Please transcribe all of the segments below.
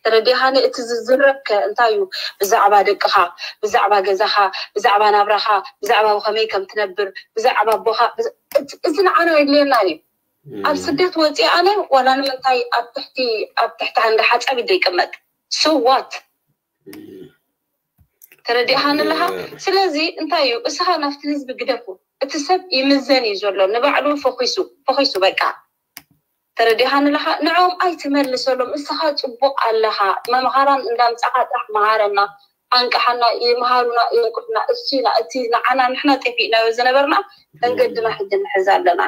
ተረዲኻኒ? እቲ ዝዝረብ ከ እንታይ እዩ? ብዛዕባ ደቅኻ፣ ብዛዕባ ገዛኻ፣ ብዛዕባ ናብራኻ፣ ብዛዕባ ከመይ ከም ትነብር፣ ብዛዕባ ኣቦኻ፣ ብዛ- እቲ- እዚ ንዓና የድልየና እዩ። ኣብ ስደት ወፂአ ኣነ ዋላ ንምንታይ ኣብ ትሕቲ ኣብ ትሕቲ ሃንዳ ሓፃብ ይደ ይቅመጥ? So what? ተረዲኻኒ ኣለኻ? ስለዚ እንታይ እዩ እስኻ ናብቲ ህዝቢ ግደፉ። እቲ ሰብ ይምዘን እዩ ዘሎ፣ ንባዕሉ ፈኺሱ ፈኺሱ በቃ። ተረዲኻኒ ኣለኻ? ንዕኦም ኣይትመልሰሎም። እስኻ ፅቡቕ ኣለኻ፣ መምሃራን እንዳምፃኻ ጥራሕ መሃረና፣ ኣንቅሓና፣ ይምሃሩና፣ የንቅሑና። እሱ ኢና እቲ ንዓና ንሕና ጠፊእናዮ ዝነበርና መንገድና ሕጂ ንሕዝ ኣለና።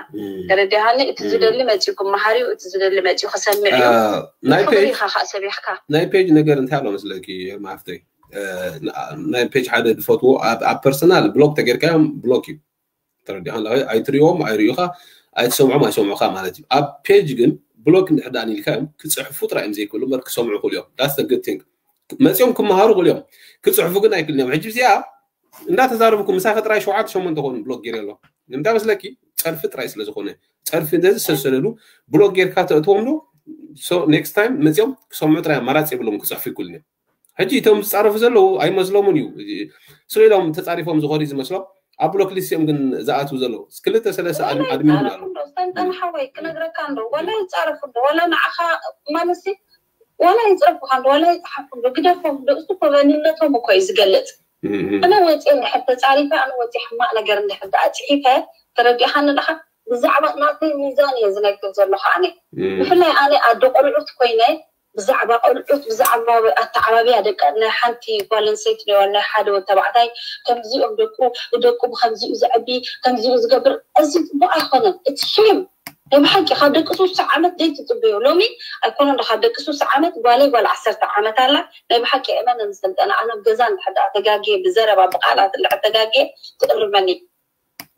ተረዲኻኒ? እቲ ዝደሊ መፂኡ ክመሃር እዩ፣ እቲ ዝደሊ መፂኡ ክሰምዕ እዩ። ናይ ክብሪ ፔጅ ኢኻ ከዓ ሰቢሕካ። ናይ ፔጅ ነገር እንታይ ኣሎ መስለኪ ማፍተይ? ናይ ፔጅ ሓደ ዝፈትዎ ኣብ ኣብ ፐርሰናል ብሎክ ተገይርካዮም ብሎክ እዩ። ተረዲኻ ኣለኻ? ኣይትሪኦም ኣይርእዩኻ፣ ኣይትሰምዖም ኣይሰምዑኻ ማለት እዩ። ኣብ ፔጅ ግን ብሎክ እንድሕር ደኣ ኢልካዮም ክፅሕፉ ጥራይ እዮም ዘይክእሉ እምበር ክሰምዑ ይኽእሉ እዮም። That's the good thing። መፂኦም ክመሃሩ ይኽእሉ እዮም፣ ክፅሕፉ ግን ኣይክእሉን እዮም። ሕጂ እዚኣ እንዳተዛረብኩ ምሳኺ ጥራይ ሸውዓተ ሸሞንተ ኮኑ ብሎክ ገይረ ኣሎ። ንምንታይ መስለኪ? ፀርፊ ጥራይ ስለ ዝኾነ፣ ፀርፊ እንደዚ ዝሰሰለሉ ብሎክ ጌርካ ተእትዎም ዶ? So next time መፂኦም ክሰምዑ ጥራይ ኣማራፂ የብሎም፣ ክፅሕፉ ይክእሉን እዮም። ሕጂ እቶም ዝፃረፉ ዘለዉ ኣይመስሎምን እዩ። ስለ ኢሎም ተፃሪፎም ዝኾኑ እዩ ዝመስሎም። ኣብ ብሎክ ሊስት እዮም ግን ዝኣትዉ ዘለዉ። ክልተ ሰለስተ ኣድ- ኣድሚን እውን ኣሎ። ዶ ሰልጠነ ሓወይ ክነግረካ እንዶ ዋላ ይፃረፉ እንዶ ዋላ ንዓኻ ማለት ዋላ ይፅረፉኻ እንዶ ዋላ ይፅሓፉ እንዶ ግደፎም እንዶ እሱ እኮ መንነቶም እኮ እዩ ዝገልፅ። ኣነ ወፂ እንድሕር ተፃሪፈ ኣነ ወፂ ሕማቅ ነገር እንድሕር ደኣ ፅሒፈ ተረዲእኻ ንለኻ ብዛዕባ ናተይ ሚዛን እየ ዝነግር ዘለኹ ኣነ ብፍላይ ኣነ ኣደ ቆልዑት ኮይነ ብዛዕባ ቆልዑት ብዛዕባ ኣተዓባብያ ደቂ ናይ ሓንቲ ጓል ኣንስተይቲ ናይ ናይ ሓደ ወዲ ተባዕታይ ከምዚኦም ደቁ ደቁ ብከምዚኡ ዘዕቢ ከምዚኡ ዝገብር እዚ ፅቡቅ ኣይኮነን እቲ ሼም ናይ ብሓቂ ካብ ደቂ ሱሳ ዓመት ደይ ትፅበዮ ሎሚ ኣይኮነን ካብ ደቂ ሱሳ ዓመት ጓለይ ጓል ዓሰርተ ዓመት ኣላ ናይ ብሓቂ እመን ንሰልጠነ ኣነ ገዛ እንድሕር ተጋግየ ብዘረባ ብቃላት እንድሕር ተጋግየ ትእርመኒ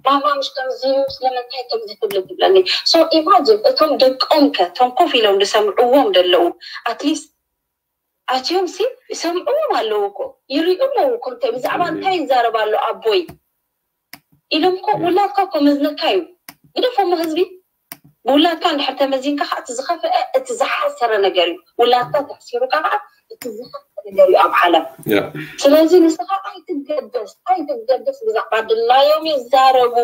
ማማ ምሽ ከምዚ እዩ ስለምንታይ ከምዚ ትብል ትብለኒ so imagine እቶም ደቆም ከ እቶም ኮፍ ኢሎም ዝሰምዕዎም ዘለዉ at least ኣትዮም ሲ ይሰምዕዎም ኣለዉ እኮ ይርእዩ ኣለዉ እኮ እንታይ ብዛዕባ እንታይ ይዛረብ ኣሎ ኣቦይ ኢሎም እኮ ውላድካ እኮ መዝነካ እዩ ግደፎሞ ህዝቢ ብውላድካ እንድሕር ተመዚንካ ከዓ እቲ ዝኸፍአ እቲ ዝሓሰረ ነገር እዩ ውላድካ ተሕሲሩካ ከዓ እቲ ዝኸፍአ ነገር እዩ ኣብ ዓለም ስለዚ ንስኻ ኣይትገደስ ኣይትገደስ ብዛዕባ ድላዮም ይዛረቡ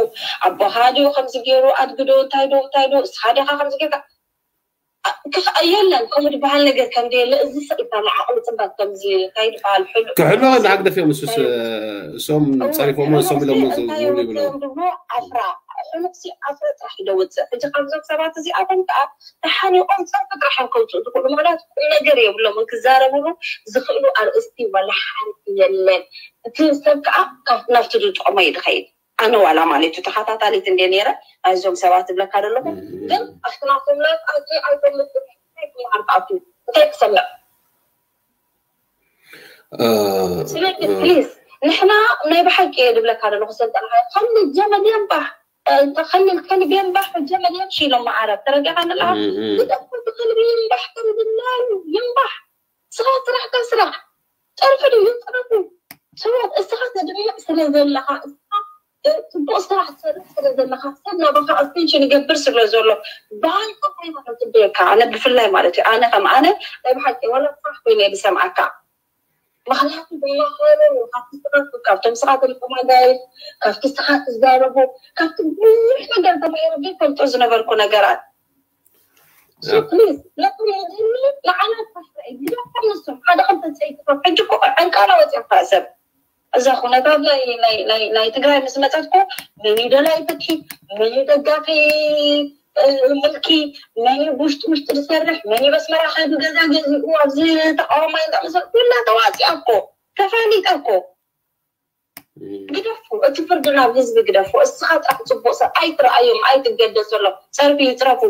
ኣቦኻ ድዩ ከምዚ ገይሩ ኣድግዶ እንታይ ዶ እንታይ ዶ እስኻ ዲኻ ከምዚ ጌርካ የለን ከምኡ ዝበሃል ነገር ከም ዘየለ እዚ ሰኢታ ንዓቕሊ ፅባት ከምዚ እንታይ ዝበሃል ሕሉ ክሕሎ ንዓግደፍ እዮም እሱስ እሶም ፀሪፎሞ እሶም ኢሎም ዝብሉ ይብሉ ድሞ ኣፍራ ሕሉቅሲ ኣፍራ ጥራሕ ይደውፅእ ሕጂ ካብዞም ሰባት እዚኣቶም ከዓ ተሓኒቆም ፀርፊ ጥራሕ እዮም ከውፅኡ ዝኽእሉ ምክንያቱ ቁም ነገር የብሎም ክዛረብሉ ዝኽእሉ ኣርእስቲ ዋላ ሓንቲ የለን እቲ ሰብ ከዓ ናብቲ ዝጥቕሞ እዩ ዝኸይድ ኣነ ዋላ ማለት እዩ ተኸታታሊት እንደ ነረ ናይዞም ሰባት ዝብለካ ዘለኹ ግን ኣብቲ ናቶም ላይፍ ኣት ኣይፈልጥ ክመሃር ክኣቱ እንታይ ክሰምዕ ስለዚ ፕሊዝ ንሕና ናይ ብሓቂ እየ ዝብለካ ዘለኹ ሰልጠና ከልል ጀመል የንባሕ ከልል ከልብ የንባሕ ጀመል የምሽ ኢሎም መዓረብ ተረዲኻ ንላ ዝጠቁ ብከልቢ ይንባሕ ከምዝናሉ ይንባሕ ስራሕ ስራሕካ ስራሕ ፀርፊ ድዩ ፀርፊ ስሞት እስኻ ተድምዕ ስለ ዘለኻ እስኻ ፅቡቅ ስራሕ ትሰርሕ ስለ ዘለኻ ሰብ ናባኻ ኣስቴንሽን ይገብር ስለ ዘሎ ብሃይካ ኮይና ክትበየካ ኣነ ብፍላይ ማለት እዩ ኣነ ከም ኣነ ናይ ብሓቂ ዋላ ስራሕ ኮይነ ዝሰምዓካ ምክንያቱ ብማህበሩ ካብቲ ስኻ ካብቶም ስኻ ተልቀማጋይ ካብቲ ስኻ ትዛረቡ ካብቲ ብዙሕ ነገር ተማሂሩ ዘይፈልጦ ዝነበርኩ ነገራት ንዓና ንሶም ሓደ ክልተ ፀይትቶም ሕጂ እኮ ዕንቃላ ወፂኣካ ሰብ እዛ ኩነታት ናይ ትግራይ ምስ መፀት እኮ መን ደላይ ፍትሒ መን ደጋፊ ምልኪ መን ውሽጢ ውሽጢ ዝሰርሕ መን በስመራ ከዱ ገዛ ገዚኡ ኣብዚ ተቃዋማይ እንዳመሰል ኩላ ተዋፂኣ እኮ ተፋሊጣ እኮ ግደፉ እቲ ፍርዲ ናብ ህዝቢ ግደፉ እስኻ ጥራሕ ፅቡቅ ሰብ ኣይትረኣዮም ኣይትገደሰሎም ፀርፊ ይፅረፉ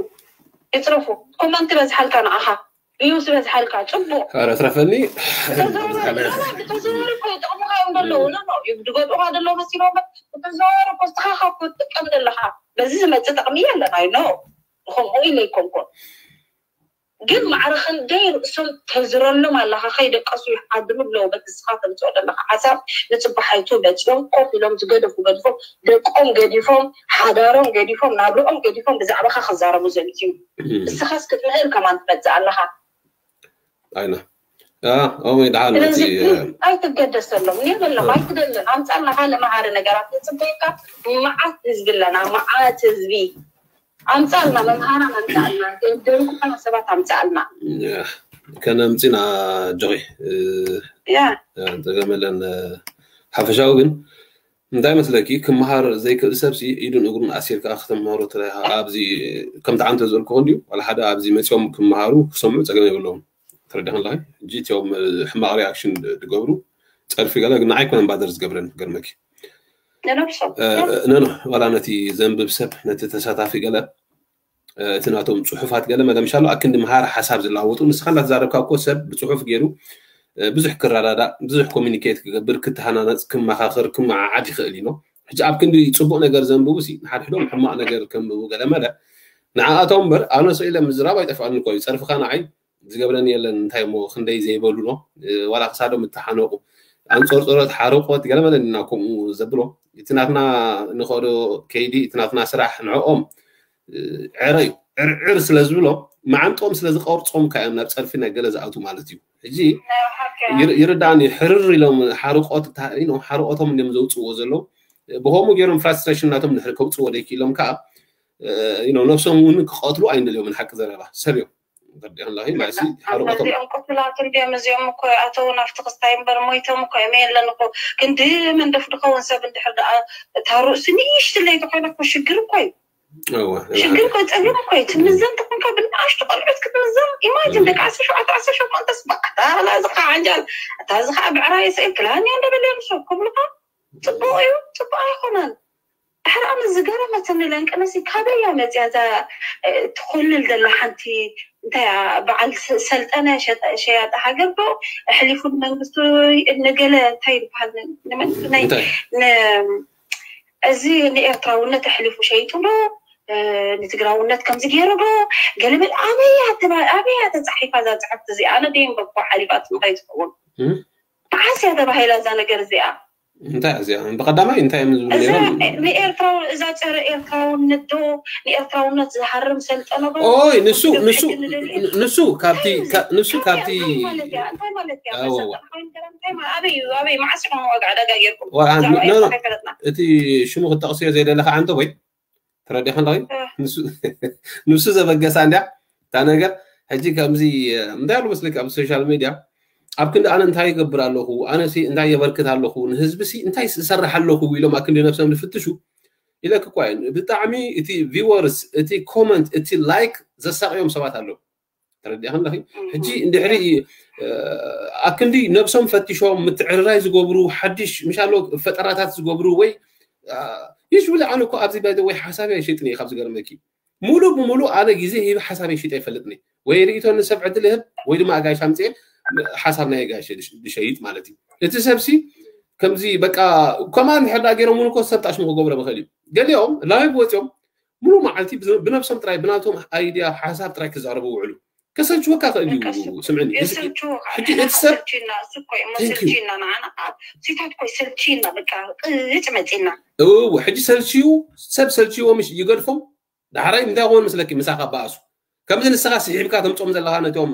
ይፅረፉ ኮመንት በዝሓልካ ንዓኻ ቪውስ በዝሓልካ ፅቡቅ ኧረ ትረፈኒ ተዘዋወሪ እኮ ይጠቕሙኻ እዮም ዘለዉ ዝጎድኡኻ ዘለዉ መሲሎም ተዘዋወሪ እኮ እስኻ ካብ ትጥቀም ዘለኻ በዚ ዝመፅእ ጥቕሚ የለን ኣይ ኖ ከምኡ ኢለ ኣይኮንኩን ግን ማዕረ ክንደይ ርእሶም ተዝረሎም ኣለኻ ከይደቀሱ ይሓድሩ ኣለዉ በቲ እስኻ ተምፅኦ ዘለኻ ሓሳብ ንፅባሓይቱ መፂኦም ኮፍ ኢሎም ዝገደፉ ገዲፎም ደቆም ገዲፎም ሓዳሮም ገዲፎም ናብርኦም ገዲፎም ብዛዕባኻ ክዛረቡ ዘምፅኡ እስኻስ ክትምህር ከማን ትመፅእ ኣለኻ ኣይና ኦመይ ደሓን ስለዚ ኣይትገደሰሎም። እኔ በለኹ ኣይትደልን። ኣምፃልና ካልእ መሃሪ ነገራት ንፅበየካ። መዓት ህዝቢ ኣለና፣ መዓት ህዝቢ። ኣምፃልና መምሃራን ኣምፃልና ደንኩ ከና ሰባት ኣምፃልና። ከነምፅና ጆኺ ያ ተገመለን ሓፈሻዊ ግን እንታይ መስለኪ ክመሃር ዘይክእል ሰብሲ ኢዱን እግሩን ኣሲርካ ክተምሃሮ ትለካ ኣብዚ ከምቲ ዓንተ ዝበልክኹ እንዲዩ ዋላ ሓደ ኣብዚ መፂኦም ክመሃሩ ክሰምዑ ፀገም የብለዎም ተረዲኹ ኣለኺ እንጂ እቲኦም ሕማቕ ሪኣክሽን ዝገብሩ ፀርፊ ገለ ግን ንዓይ ኮነ ባደር ዝገብረን ገርመኪ ንነብሶም ነኖ ዋላ ነቲ ዘንብብ ሰብ ነቲ ተሳታፊ ገለ እቲ ናቶም ፅሑፋት ገለ መለ ምሻሎ ኣክንዲ መሃሪ ሓሳብ ዝለዋወጡ ንስኻ እንዳተዛረብካ እኮ ሰብ ብፅሑፍ ገይሩ ብዙሕ ክረዳዳእ ብዙሕ ኮሚኒኬት ክገብር ክተሃናነፅ ክመኻኸር ክመዓዓድ ይኽእል እዩ ሕጂ ኣብ ክንዲ ፅቡቅ ነገር ዘንብቡ ሲ ንሓድሕዶም ሕማቅ ነገር ከንብቡ ገለ መለ ንዓኣቶም እምበር ኣነ ስኢለ ምዝራብ ኣይጠፍኣኒ እኮ እዩ ፀርፍካ ንዓይ ዝገብረኒ የለን እንታይ እሞ ክንደይ ዘይበሉ ዶ ዋላ ክሳዶም እተሓነቁ ኣንፀርፀሮት ሓረቆት ገለ መለ ኢና ከምኡ ዘብሎ እቲ ናትና ንኸዶ ከይዲ እቲ ናትና ስራሕ ንዕኦም ዕረ እዩ ዕርዕር ስለ ዝብሎ መዓንጦም ስለ ዝቀርፆም ካዮም ናብ ፀርፊ ናይ ገለ ዝኣቱ ማለት እዩ ሕጂ ይርዳእኒ ሕርር ኢሎም ሓርቆት ሓርቆቶም እንዲም ዘውፅዎ ዘለዉ ብከምኡ ገይሮም ፍራስትሬሽን ናቶም ድሕሪ ከውፅዎ ደይክኢሎም ከዓ ነብሶም እውን ክቀትሉ ኣይንደልዮም ሓቂ ዘረባ ሰብ እዮም ተረዲእኽን ኣለኺ ማለት ሓርቆቶም እዚኦም ቅትላት እንዲኦም እዚኦም እኮ ኣተው ናብቲ ክስታይ እምበር ሞይቶም እኮ እዮም የለን እኮ ክንዲ መንደፍ ድኸውን ሰብ እንድሕር ደኣ እታ ርእሲ ንእሽትለይ ተኮይና እኮ ሽግር እኮ እዩ ሽግር እኮ ፀገም እኮ እዩ ትምዘን ተኮንካ ብንኣሽቱ ቆልዑት ክትምዘን ኢማጅን ደቂ ዓሰርተ ሸውዓተ ዓሰርተ ሸሞንተ ስባሕ እታ እዚ ከዓ ዓንጃል እታ እዚ ከዓ ብዕራይ ስእል ክላን እያ እንደበለ ንሱ ክብሉካ ፅቡቅ እዩ ፅቡቅ ኣይኮነን ድሕሪ ኣነ ዝገረመትኒ ለንቅነሲ ካበይ እያ መፅያ እዛ ትኮልል ዘላ ሓንቲ እንታይ በዓል ሰልጠነ ሸያጢ ሃገር ዶ ኣሕሊፉ ንመንግስቲ ንገለ እንታይ ይበሃል እዚ ንኤርትራውነት ኣሕሊፉ ሸይጡ ዶ ንትግራውነት ከምዚ ገይሩ ዶ ገለመል ኣበያ ኣበያ ተፃሒፋ እዛ ፅሕፍቲ እዚኣ ኣነ ደይንበብኮ ሓሊፋት ንኸይትኸውን መዓስ እያ ተባሂላ እዛ ነገር እዚኣ እንታይ እዚኣ ብቀዳማይ እንታይ እዮም ዝብሉ ነይሮም ንኤርትራው እዛ ፀረ ኤርትራውነት ዶ ንኤርትራውነት ዝሃርም ሰልጠነ ዶ ኦይ ንሱ ንሱ ንሱ ካብቲ ንሱ ካብቲ ኣበይ ኣበይ መዓስ ኢኹም ዋጋ ዕዳጋ ጌርኩም እቲ ሽሙ ክጠቕስዮ ዘይደለካ ዓንተ ወይ ተረዲኻ ኣለኺ ንሱ ዘበገሳ እንዲያ እታ ነገር ሕጂ ከምዚ እንታይ ኣሎ መስለኪ ኣብ ሶሻል ሚድያ ኣብ ክንዲ ኣነ እንታይ ይገብር ኣለኹ ኣነ እንታይ የበርክት ኣለኹ ንህዝቢ ሲ እንታይ ዝሰርሕ ኣለኹ ኢሎም ኣብ ክንዲ ነብሶም ዝፍትሹ ኢለክ እኳ ብጣዕሚ እቲ ቪወርስ እቲ ኮመንት እቲ ላይክ ዘሳቅዮም ሰባት ኣለዉ ተረዲእኽን ኣለኺ ሕጂ እንድሕሪ ኣክንዲ ነብሶም ፈቲሾም ምትዕርራይ ዝገብሩ ሓድሽ ምሻሎ ፈጠራታት ዝገብሩ ወይ ይሽብለ ኣነ እኮ ኣብዚ ባይ ወይ ሓሳብ ኣይሸጥን እየ ካብ ዝገርመኪ ሙሉ ብሙሉ ኣነ ግዜ ሂብ ሓሳብ ይሽጥ ኣይፈልጥኒ ወይ ርእቶ ንሰብ ዕድል ህብ ወይ ድማ ኣጋይሽ ኣምፅኤ ሓሳብ ናይ ኣጋይሽ ዝሸይጥ ማለት እዩ እቲ ሰብሲ ከምዚ በቃ ከማን ሕዳ ገይሮም እውን እኮ ሰብ ጣሽሙ ክገብሮ ምኽእል እዩ ገሊኦም ላይቭ ወፂኦም ሙሉ መዓልቲ ብነብሶም ጥራይ ብናቶም ኣይድያ ሓሳብ ጥራይ ክዛረቡ ውዕሉ ከሰልችወካ ክእል እዩ ስምዕኒ ሕጂ እቲ ሰብ ሰልችና ንዓና ሲታት ኮይ ሰልችና በቃ ቅጭ መፂና ሕጂ ሰልችዩ ሰብ ሰልችዎ ምሽ ይገድፎም ዳሕራይ እንታይ ክኾን መስለኪ ምሳኻ በኣሱ ከምዚ ንስኻ ስሒብካ ተምፆም ዘለኻ ነቶም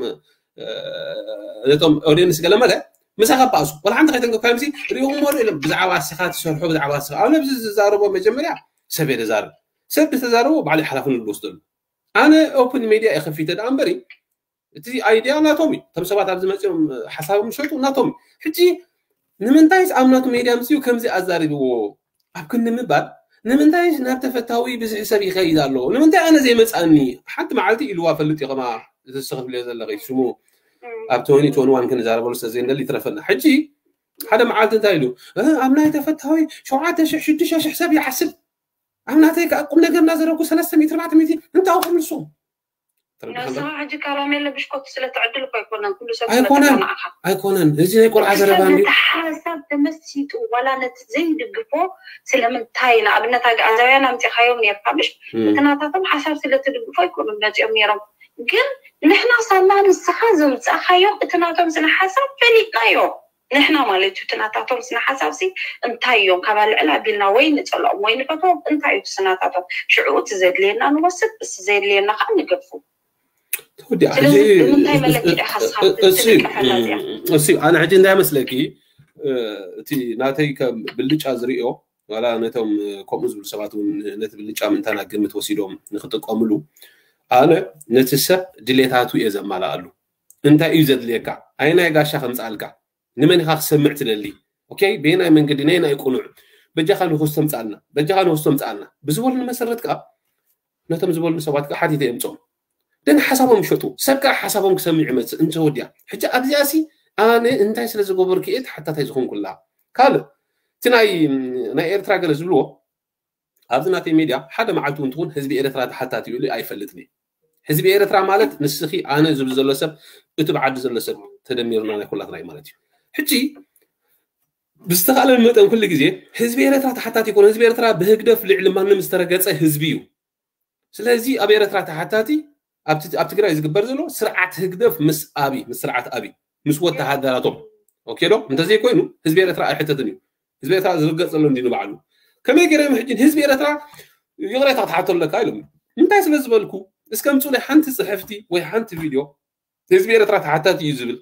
ነቶም ኦዲየንስ ገለ መለ ምሳኻ በኣሱ ቆልዓ እንተ ከይተንከፍካ ምሲ ሪእኹም ወሩ ኢሎም ብዛዕባ ስኻ ትሰርሑ ብዛዕባ ስኻ ኣነ ብዚ ዝዛረቦ መጀመርያ ሰብ እየ ዝዛረብ ሰብ ዝተዛረቦ ባዕሉ ሓላፍነት ዝወስደሉ ኣነ ኦፕን ሜድያ እየ ከፊተ ደኣ እምበሪ እቲ ኣይድያ ናቶም እዩ እቶም ሰባት ኣብዚ መፅኦም ሓሳቦም ዝሸጡ ናቶም እዩ ሕጂ ንምንታይስ ኣብ ናቱ ሜድያ ምፅኡ ከምዚ ኣዛሪብዎ ኣብ ክንዲ ምባል ንምንታይስ ናብ ተፈታዊ ብዝሒ ሰብ ይኸይድ ኣሎ ንምንታይ ኣነ ዘይመፃኒ ሓንቲ መዓልቲ ኢልዋ ፈልጥ እዩ ከማ ዝስኽፍልዮ ዘለኺ ሽሙ ኣብ ቶኒ ቶኒ ዋን ክንዛረበሉ ስለ ዘይንደሊ ይትረፈና ሕጂ ሓደ መዓልቲ እንታይ ኢሉ ኣብ ናይ ተፈታዊ ሸውዓተ ሽሕ ሽዱሽተ ሽሕ ሰብ ይዓስብ ኣብ ናተይ ከዓ ቁም ነገር እናዘረጉ ሰለስተ ሚእቲ ኣርባዕተ ሚእቲ እንታይ ክምልሶም ንስኻ ሕጂ ካራሜለ ብሽኮት ስለትዕድል እኮ ኣይኮነን ኩሉ ሰብ ኣይኮነን ኣይኮነን እዚ ናይ ቆልዓ ዘረባ እንዲ ሓሳብ ተመሲጡ ዋላ ነቲ ዘይድግፎ ስለምንታይ ንኣብነት ኣግኣዛውያን ኣምፂኻዮም ነርካ ምሽ እቲ ናታቶም ሓሳብ ስለትድግፎ ኣይኮኑን መፂኦም ነይሮም ግን ንሕና ሳላ ንስኻ ዘምፃእኻዮም እቲ ናቶም ስነ ሓሳብ ፈሊጥናዮ ንሕና ማለት እዩ እቲ ናታቶም ስነ ሓሳብ ሲ እንታይ እዮም ካብ ኣልዕል ኣቢልና ወይ ንፀልኦም ወይ ንፈትዎም እንታይ እዩ እቲ ስናታቶም ሽዑ እቲ ዘድልየና ንወስድ እቲ ዘድልየና ከዓ ንገፉ ተወዲኣ ስለዚ ሕጂ ብምንታይ መለኪ ኢኻ ንስኻ እሱ ትንቀሕ ኣላ እዚኣ? እሱ ኣነ ሕጂ እንታይ መስለኪ፣ እቲ ናተይ ከም ብልጫ ዝርእዮ ዋላ ነቶም ከምኡ ዝብሉ ሰባት እውን ነቲ ብልጫ ምእንታና ግምት ወሲዶም ንክጥቀምሉ፣ ኣነ ነቲ ሰብ ድሌታቱ እየ ዘማላኣሉ። እንታይ እዩ ዘድልየካ? ኣይናይ ጋሻ ከምፃልካ፣ ንመን ኢኻ ክሰምዕ ትደሊ? ኦኬ፣ በየናይ መንገዲ፣ ናይ ናይ ቁኑዕ፣ በጃኻ ንክስቶ ምፃልና፣ በጃኻ ንክስቶ ምፃልና ብዝበሉኒ መሰረት ከዓ ነቶም ዝበሉኒ ሰባት ከዓ ሓቲተ የምፅኦም። ደን ሓሳቦም ይሸጡ። ሰብ ከዓ ሓሳቦም ክሰምዕ ይመፅእ እንተወዲያ። ሕጂ ኣብዚኣ ሲ ኣነ እንታይ ስለ ዝገበርኩ እየ ተሓታታይ ዝኾንኩላ? ካልእ እቲ ናይ ናይ ኤርትራ ገለ ዝብልዎ፣ ኣብዚ ናተይ ሜድያ ሓደ መዓልቲ እውን ትኹን ህዝቢ ኤርትራ ተሓታቲ ኢሉ ኣይፈልጥን እዩ። ህዝቢ ኤርትራ ማለት ንስኺ ኣነ ዝብል ዘሎ ሰብ፣ እቲ ብዓዲ ዘሎ ሰብ ተደሚርና ናይ ኩላትና እዩ ማለት እዩ። ሕጂ ብዝተኻእለ መጠን ኩሉ ግዜ ህዝቢ ኤርትራ ተሓታቲ ይኮነ። ህዝቢ ኤርትራ ብህግደፍ ልዕሊ ማንም ዝተረገፀ ህዝቢ እዩ። ስለዚ ኣብ ኤርትራ ተሓታቲ ኣብቲ- ኣብ ትግራይ ዝግበር ዘሎ ስርዓት ህግደፍ ምስ ኣብይ፣ ምስ ስርዓት ኣብይ፣ ምስ ወተሃደራቶም፣ ኦኬ ዶ? እንተዘይኮይኑ ህዝቢ ኤርትራ ኣይሕተትን እዩ። ህዝቢ ኤርትራ ዝርገፅ ዘሎ እንዲ ንባዕሉ። ከመይ ገይሮም ሕጂ ህዝቢ ኤርትራ ይቕሬታ ክትሓቶ ኣለካ ኢሎም? እንታይ ስለ ዝበልኩ? እስከ ምፁ ናይ ሓንቲ ፅሕፍቲ ወይ ሓንቲ ቪድዮ ህዝቢ ኤርትራ ተሓታቲ እዩ ዝብል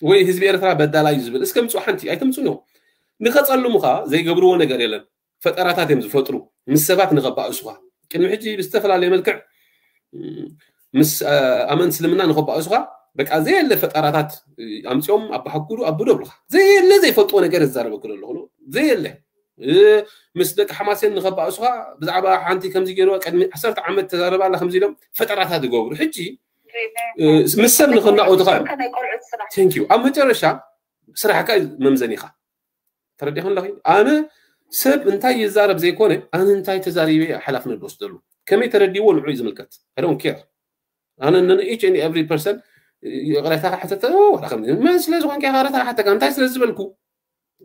ወይ ህዝቢ ኤርትራ በዳላ እዩ ዝብል፣ እስከ ምፁ ሓንቲ። ኣይተምፁን እዮም። ንኸፀልሙኻ ዘይገብርዎ ነገር የለን። ፈጠራታት እዮም ዝፈጥሩ፣ ምስ ሰባት ንኸባእሱኻ። ቅድሚ ሕጂ ብዝተፈላለየ መልክዕ ምስ ኣመንቲ እስልምና ንኸባእሱኻ፣ በቃ ዘየለ ፈጠራታት ኣምፅኦም ኣባሓኩዱ ኣቡዶ ብሉኻ። ዘየለ ዘይፈልጥዎ ነገር እዛረበኩ ዘለኹ፣ ዘየለ ምስ ደቂ ሓማሴን ንኸባእሱኻ፣ ብዛዕባ ሓንቲ ከምዚ ገይርዋ ቅድሚ ዓሰርተ ዓመት ተዛረባ ኣላ ከምዚ ኢሎም ፈጠራታት ይገብሩ። ሕጂ ምስ ሰብ ንኸናቆትኻ እዮም። Thank you። ኣብ መጨረሻ ስራሕካ እዩ መምዘኒኻ። ተረዲኹ ኣለኺ? ኣነ ሰብ እንታይ ይዛረብ ዘይኮነ፣ ኣነ እንታይ ተዛሪበ እየ ሓላፍነት ዝወስደሉ። ከመይ ተረዲዎ ንዑ እዩ ዝምልከት። I don't care። ኣነ ን each and every person ይቕሬታ ክሓተተ፣ ወላ ከም መን ስለ ዝኾንካ ይቕሬታ ክሓተካ፣ እንታይ ስለ ዝበልኩ?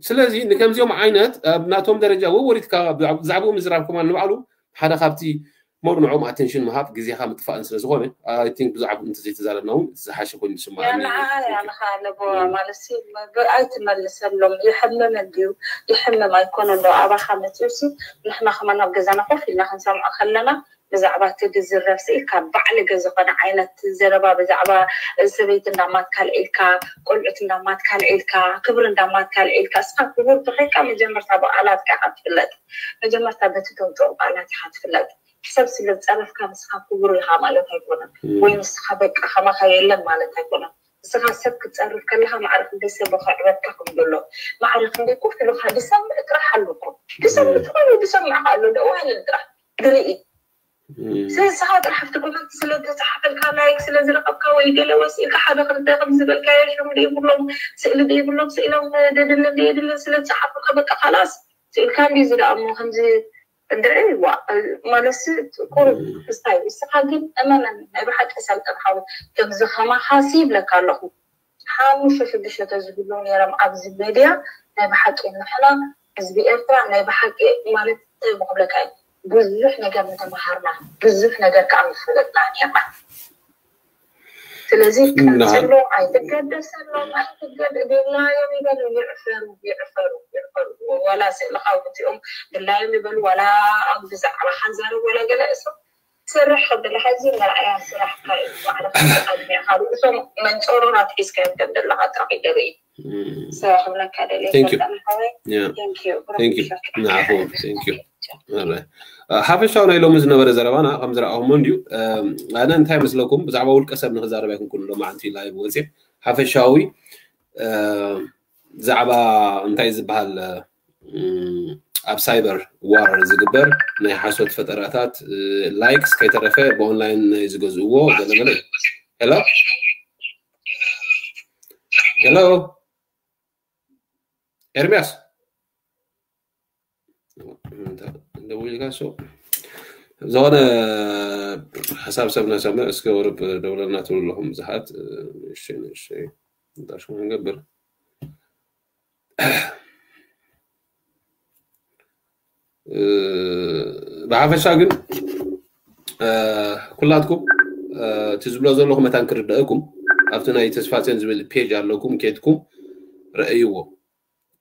ስለዚ ንከምዚኦም ዓይነት ኣብ ናቶም ደረጃ ወወሪትካ ብዛዕባኡ ምዝራብ ከማን ንባዕሉ ሓደ ካብቲ ሞር ንዕኦም ኣቴንሽን ምሃብ ግዜኻ ምጥፋእን ስለ ዝኾነ፣ I think ብዛዕባኡ እንተዘይተዛረብና እውን ዝሓሸ ኮይኑ ዝስምዓኒ እዩ። ያንኻ ለቦ ማለት ሲ ኣይትመልሰሎም። ይሕምም እንድዩ፣ ይሕምም ኣይኮነ እንዶ ኣባኻ መፅኡ ሲ ንሕና ከማን ኣብ ገዛና ኮፍ ኢልና ክንሰምዖ ከለና ብዛዕባ እቲ ዝዝረብ ስኢልካ ባዕልገ ዝኾነ ዓይነት ዘረባ ብዛዕባ ሰበይቲ እንዳማትካ ልዒልካ፣ ቆልዑት እንዳማትካ ልዒልካ፣ ክብሪ እንዳማትካ ልዒልካ፣ እስኻ ክቡር ተኾይንካ መጀመርታ ብቃላትካ ኢኻ ትፍለጥ። መጀመርታ በቲ ተውፅኦ ቃላት ኢኻ ትፍለጥ። ሰብ ስለ ዝፀረፍካ ንስኻ ክቡር ኢኻ ማለት ኣይኮነን፣ ወይ ንስኻ በቃ ከማኻ የለን ማለት ኣይኮነን። ንስኻ ሰብ ክትፀርፍ ከለኻ ማዕረ ክንደይ ሰብ ከዕበትካ ከም ዘሎ፣ ማዕረ ክንደይ ኮፍ ኢሉኻ ዝሰምዕ ጥራሕ ኣሎ እኮ። ዝሰምዕ ዝኾነ ዝሰምዕካ ኣሎ፣ ደው ኣይበል ጥራሕ። ድርኢ። ስለዚ ንስኻ ጥራሕ ኣብቲ ኮመንት ስለ ዝተፅሓፈልካ፣ ላይክ ስለ ዝረኸብካ ወይ ገለ ወሲእካ ሓደ ክልተ ከም ዝበልካዮ ሽም ዘይብሎም፣ ስእሊ ዘይብሎም፣ ስኢሎም ደድልን ደየድልን ስለ ዝፀሓፉልካ በቃ ካላስ ስኢልካ እንዲ እዚ ደኣ እሞ ከምዚ እንድዒ ዋ ማለትሲ ቁሩብ ክስታይ። ንስኻ ግን እመነኒ ናይ ብሓቂ ሰልጠን ሓው ከምዚ ከማኻሲ ይብለካ ኣለኹ። ሓሙሽተ ሽዱሽተ ተዝህልዉ ነይሮም ኣብዚ ሜድያ ናይ ብሓቂ ንሕና ህዝቢ ኤርትራ ናይ ብሓቂ ማለት እንታይ ምክብለካ እዩ ብዙሕ ነገር ምተምሃርና ብዙሕ ነገር ከዓ ምፈለጥና ነርና። ስለዚ ቀፅሎ ኣይትገደሰሎም ኣይትገድ ድላዮም ይበሉ ይዕፈሩ ይዕፈሩ ይዕፈሩ። ዋላ ስእልካ ውፅኦም ድላዮም ይበሉ ዋላ ኣብ ብዛዕባ ሓንዛረብ ዋላ ገለ እሶም ስራሕ ከብለካ እዚ መርኣያ ስራሕካ እዩ። ባዕልካ ኣድሚዕካ ርእሶም መንፀሮን ኣትሒዝካዮም ከም ዘለካ ጥራሕ ይደርኢ። ስራሕ ክብለካ ደልየ Thank you. ፈጣን ሓወይ። Yeah. Thank you። Thank you። ንዓኹም፣ thank you። ሓፈሻዊ ናይ ሎሚ ዝነበረ ዘረባና ከም ዝረኣኹሞ እንድዩ። ኣነ እንታይ መስለኩም ብዛዕባ ውልቀ ሰብ ንክዛረብ ኣይኮንኩን ሎማዓንቲ ላይቭ ወፅየ። ሓፈሻዊ ብዛዕባ እንታይ ዝበሃል ኣብ ሳይበር ዋር ዝግበር ናይ ሓሶት ፈጠራታት ላይክስ ከይተረፈ ብኦንላይን ናይ ዝገዝእዎ ገለገለ እዩ። ሄሎ ሄሎ ኤርሚያስ ደውልካ ሶ ዝኾነ ሓሳብ ሰብ ነሰምዕ እስከ ወርብ ደውለና ትብሉ ኣለኹም ብዙሓት። እሺ እሺ እንታይ ሽሙ ንገብር። ብሓፈሻ ግን ኩላትኩም እቲ ዝብሎ ዘለኹ መታን ክርደአኩም ኣብቲ ናይ ተስፋፅዮን ዝብል ፔጅ ኣለኩም ኬድኩም ረእይዎ።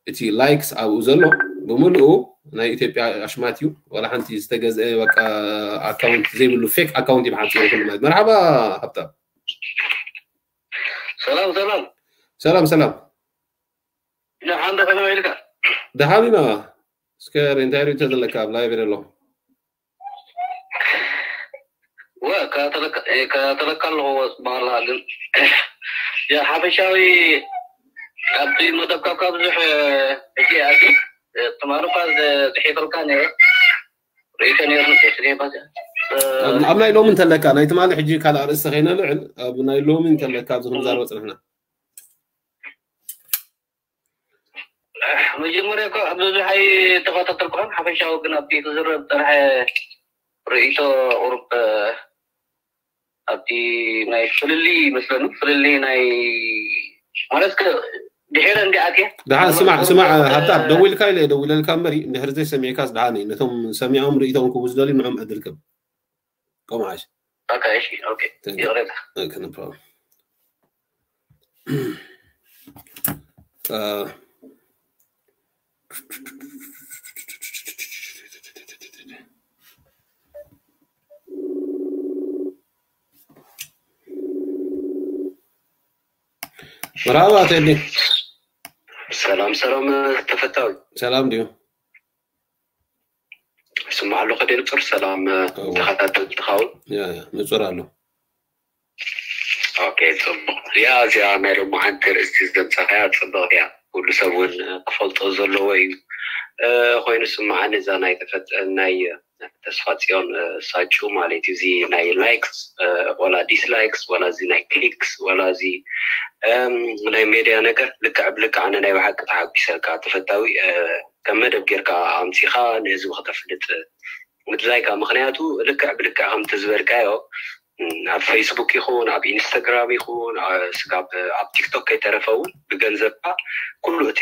እቲ ላይክስ ኣብኡ ዘሎ ብምልኡ ናይ ኢትዮጵያ ኣሽማት እዩ። ዋላ ሓንቲ ዝተገዝአ በቃ ኣካውንት ዘይብሉ ፌክ ኣካውንት እዩ ብሓፂሩ ኩሉ ማለት። መርሓባ ሃብታም። ሰላም ሰላም ሰላም ሰላም። ደሓን ዶ ከመይ ኢልካ? ደሓን ኢና። እስከ እንታይ ርእይቶ ዘለካ ኣብ ላይቭ ኣለኹ። ወ ከተለካ ኣለኹ። ወፅባላ ግን ያ ሓፈሻዊ ኣብቲ መደብካ ካብ ብዙሕ ሕጂ ኣቲ ትማሊ እኳ ዝሒፈልካ ነይረ ርእይቶ ነይሩ። ኣብ ናይ ሎሚ እንተለካ ናይ ትማሊ ሕጂ ካልእ ኣርእስቲ ከይነልዕል ኣብ ናይ ሎሚ እንተለካ ኣብዚ ክንዛረቦ ፅንሕና። መጀመርያ እኮ ኣብ ብዙሕ ኣይተኸታተልኩን ሓፈሻዊ ግን ኣብቲ ክዝረብ ዝፀንሐ ርእይቶ ቁሩብ ኣብቲ ናይ ፍልልይ ይመስለኒ ፍልልይ ናይ ማለት ድሕረ እንዲኣትየ ደሓን ስማዕ ስማዕ ሃብታ ደዊልካ ኢለ ደዊለልካ እምበሪ እንድሕር ዘይሰሚዕካስ ደሓን እዩ። ነቶም ሰሚዖም ርእይቶም ክቡ ዝደልዩ ንዕም ዕድል ክብ ቆምዓሽ ኦኬ እሺ ኦኬ ይቕሬታ Okay, no problem. Uh, መርሃባ ቴዲ። ሰላም ሰላም ተፈታዊ ሰላም ድዩ? ስማዕ ኣሎ ከደ ንጹር ሰላም ተኸታተልቲ ትኸውን ንጹር ኣሎ። ኦኬ ጽቡቕ። ያ እዚኣ ናይ ሎማዓንቲ ርእስቲ ዘምጻኻያ ጽብቕቲ እያ። ኩሉ ሰብ እውን ክፈልጦ ዘለዎ እዩ ኮይኑ ስማዓኒ እዛ ናይ ተፈጠ ናይ ተስፋ ጽዮን ሳጩ ማለት እዩ። እዚ ናይ ላይክስ ወላ ዲስላይክስ ወላ እዚ ናይ ክሊክስ ወላ እዚ ናይ ሜድያ ነገር ልክዕ ብልክዕ ኣነ ናይ ብሓቂ ተሓጒሰካ ተፈታዊ ከም መደብ ጌርካ ኣምጺኻ ንህዝቢ ክተፍልጥ ምድላይካ ምክንያቱ ልክዕ ብልክዕ ከምቲ ዝበልካዮ ኣብ ፌስቡክ ይኹን ኣብ ኢንስታግራም ይኹን ስጋብ ኣብ ቲክቶክ ከይተረፈ እውን ብገንዘብካ ኩሉ እቲ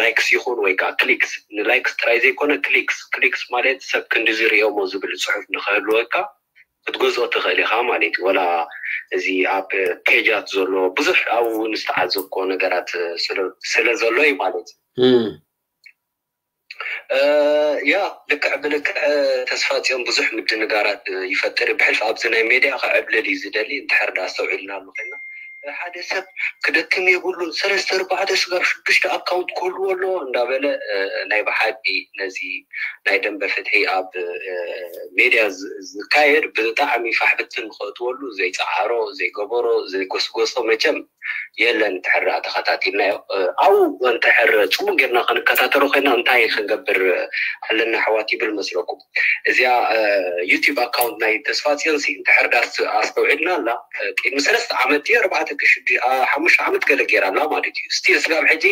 ላይክስ ይኹን ወይ ከዓ ክሊክስ ንላይክስ ጥራይ ዘይኮነ ክሊክስ ክሊክስ ማለት ሰብ ክንዲ ዝሪኦሞ ዝብል ፅሑፍ ንክህልወካ ክትገዝኦ ትኽእል ኢኻ ማለት እዩ። ወላ እዚ ኣብ ፔጃት ዘሎ ብዙሕ ኣብኡ እውን ዝተዓዘብኮ ነገራት ስለ ዘሎ እዩ ማለት እዩ። ያ ልክዕ ብልክዕ ተስፋ ፅዮን ብዙሕ ምድንጋራት ይፈጥር እዩ። ብሕልፊ ኣብዚ ናይ ሜድያ ክዕብልል እዩ ዝደሊ እንድሕር ዳ ኣስተውዒልናሉ ኮይና ሓደ ሰብ ክደክም የብሉን ሰለስተ ኣርባዕተ ስጋብ ሽዱሽተ ኣካውንት ክህልዎ ኣለዎ እንዳበለ ናይ ብሓቂ ነዚ ናይ ደንበ ፍትሒ ኣብ ሜድያ ዝካየድ ብጣዕሚ ፋሕብትን ንክእትወሉ ዘይፀዓሮ ዘይገበሮ ዘይጎስጎሶ መቸም የለን እንድሕር ደኣ ተኸታቲልናዮ ኣብኡ እንድሕር ፅቡቅ ጌርና ክንከታተሎ ኮይና እንታይ ክንገብር ኣለና ኣሕዋት ይብል መስለኩም እዚኣ ዩቲብ ኣካውንት ናይ ተስፋ ፅዮንሲ እንድሕር ደኣ ኣስተውዒልና ኣላ ቅድሚ ሰለስተ ዓመት ድዩ ኣርባዕተ ሓሙሽተ ዓመት ገለ ጌራ ኣላ ማለት እዩ ስቲል ስጋብ ሕጂ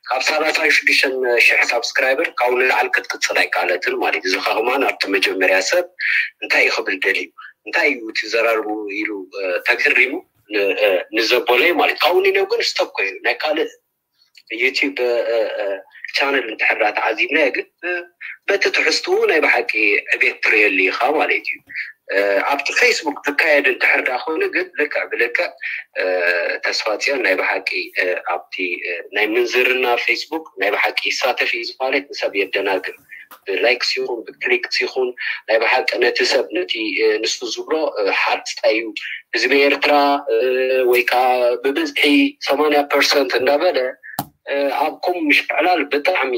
ካብ ሰላሳ ሽዱሽተ ሽሕ ሳብስክራይበር ካብኡ ንላዕሊ ክትቅፅል ኣይከኣለትን ማለት እዩ እዚ ከማን ኣብቲ መጀመርያ ሰብ እንታይ እዩ ክብል ደልዩ እንታይ እዩ ትዘራርቡ ኢሉ ተገሪሙ ንዘቦለይ ማለት ካብኡ ንነው ግን ስቶፕ ኮይኑ ናይ ካልእ ዩቲብ ቻነል እንድሕር ዳ ተዓዚብናዮ ግን በቲ ትሕዝትኡ ናይ ብሓቂ ዕቤት ትርእየሉ ኢኻ ማለት እዩ ኣብቲ ፌስቡክ ዝካየድ እንድሕር ዳ ኮይኑ ግን ልክዕ ብልክዕ ተስፋ ፅዮን ናይ ብሓቂ ኣብቲ ናይ ምንዝርና ፌስቡክ ናይ ብሓቂ ይሳተፍ እዩ ማለት ንሰብ የደናግር ብላይክስ ይኹን ብክሊክስ ይኹን ናይ ብሓቂ ነቲ ሰብ ነቲ ንሱ ዝብሎ ሓርፅታ እዩ ህዝቢ ኤርትራ ወይ ከዓ ብብዝሒ ሰማንያ ፐርሰንት እንዳበለ ኣብ ኮም ምሽዕላል ብጣዕሚ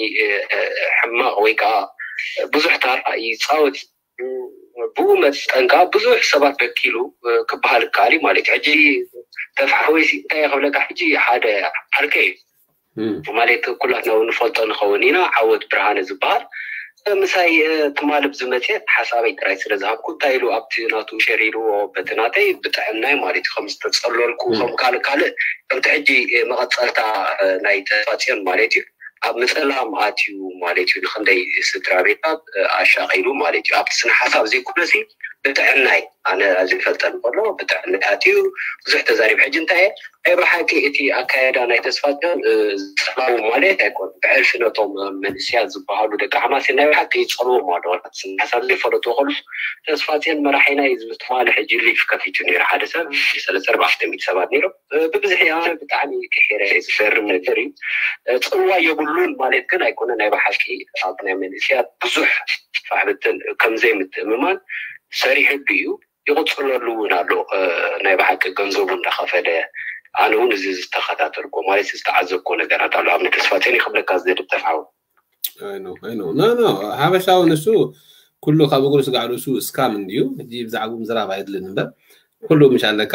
ሕማቕ ወይ ከዓ ብዙሕ ታራ ይፃወት ብኡ መጠን ከዓ ብዙሕ ሰባት በኪሉ ክበሃል ይከኣል እዩ ማለት እዩ ሕጂ ተፍሓወይሲ እንታይ ክብለካ ሕጂ ሓደ ዓርከይ እዩ ማለት ኩላትና ንፈልጦ ንኸውን ኢና ዓወት ብርሃነ ዝበሃል ምሳይ ትማልብ ዝመፅኤት ሓሳበይ ጥራይ ስለ ዝሃብኩ እንታይ ኢሉ ኣብቲ ናቱ ሸር ኢልዎ በቲ ናተይ ብጥዕናይ ማለት እዩ ከም ዝተፀለልኩ ከም ካልእ ካልእ ከምቲ ሕጂ መቐፀልታ ናይ ተፋፅዮን ማለት እዩ ኣብ ምፅላም ኣትዩ ማለት እዩ ንክንደይ ስድራ ቤታት ኣሻቒሉ ማለት እዩ ኣብቲ ስነ ሓሳብ ዘይኮነሲ ብጥዕናይ ኣነ ዘይፈልጠን ከሎ ብጥዕናይ ኣትዩ ብዙሕ ተዛሪብ ሕጂ እንታይ ናይ ብሓቂ እቲ ኣካየዳ ናይ ተስፋ ዝፀላው ማለት ኣይኮን ብሕልፊ ነቶም መንእስያት ዝበሃሉ ደቂ ሓማሴ ናይ ብሓቂ ይፀልዎም ኣለዎ ሓሳብ ዘይፈለጡ ከሉ ተስፋ ፅዮን መራሒና እዩ ዝብል ትማሊ ሕጂ ሊፍ ከፊቱ ነይሩ ሓደ ሰብ ሰለስተ ኣርባዕተ ሚእቲ ሰባት ነይሮም ብብዝሒ ኣነ ብጣዕሚ ክሒረ ዝፈርም ነገር እዩ ፅልዋ የብሉን ማለት ግን ኣይኮነ ናይ ብሓቂ ኣብ ናይ መንእስያት ብዙሕ ፋሕብትን ከምዘይ ምትእምማን ሰሪሕሉ እዩ ይቕፅለሉ እውን ኣሎ። ናይ ብሓቂ ገንዘቡ እንዳኸፈለ ኣነ እውን እዚ ዝተኸታተልኮ ማለት ዝተዓዘብኮ ነገራት ኣሎ። ኣብ ተስፋ ቴኒ ክብለካ ዝደሊ ጠፍዓው ኖ ኖ ሓበሻዊ ንሱ ኩሉ ካብ እግሩ ስጋዕ ርእሱ እስካም እንድዩ። ሕጂ ብዛዕባኡ ምዝራብ ኣይድልን እምበር ኩሉ ምሽ ኣለካ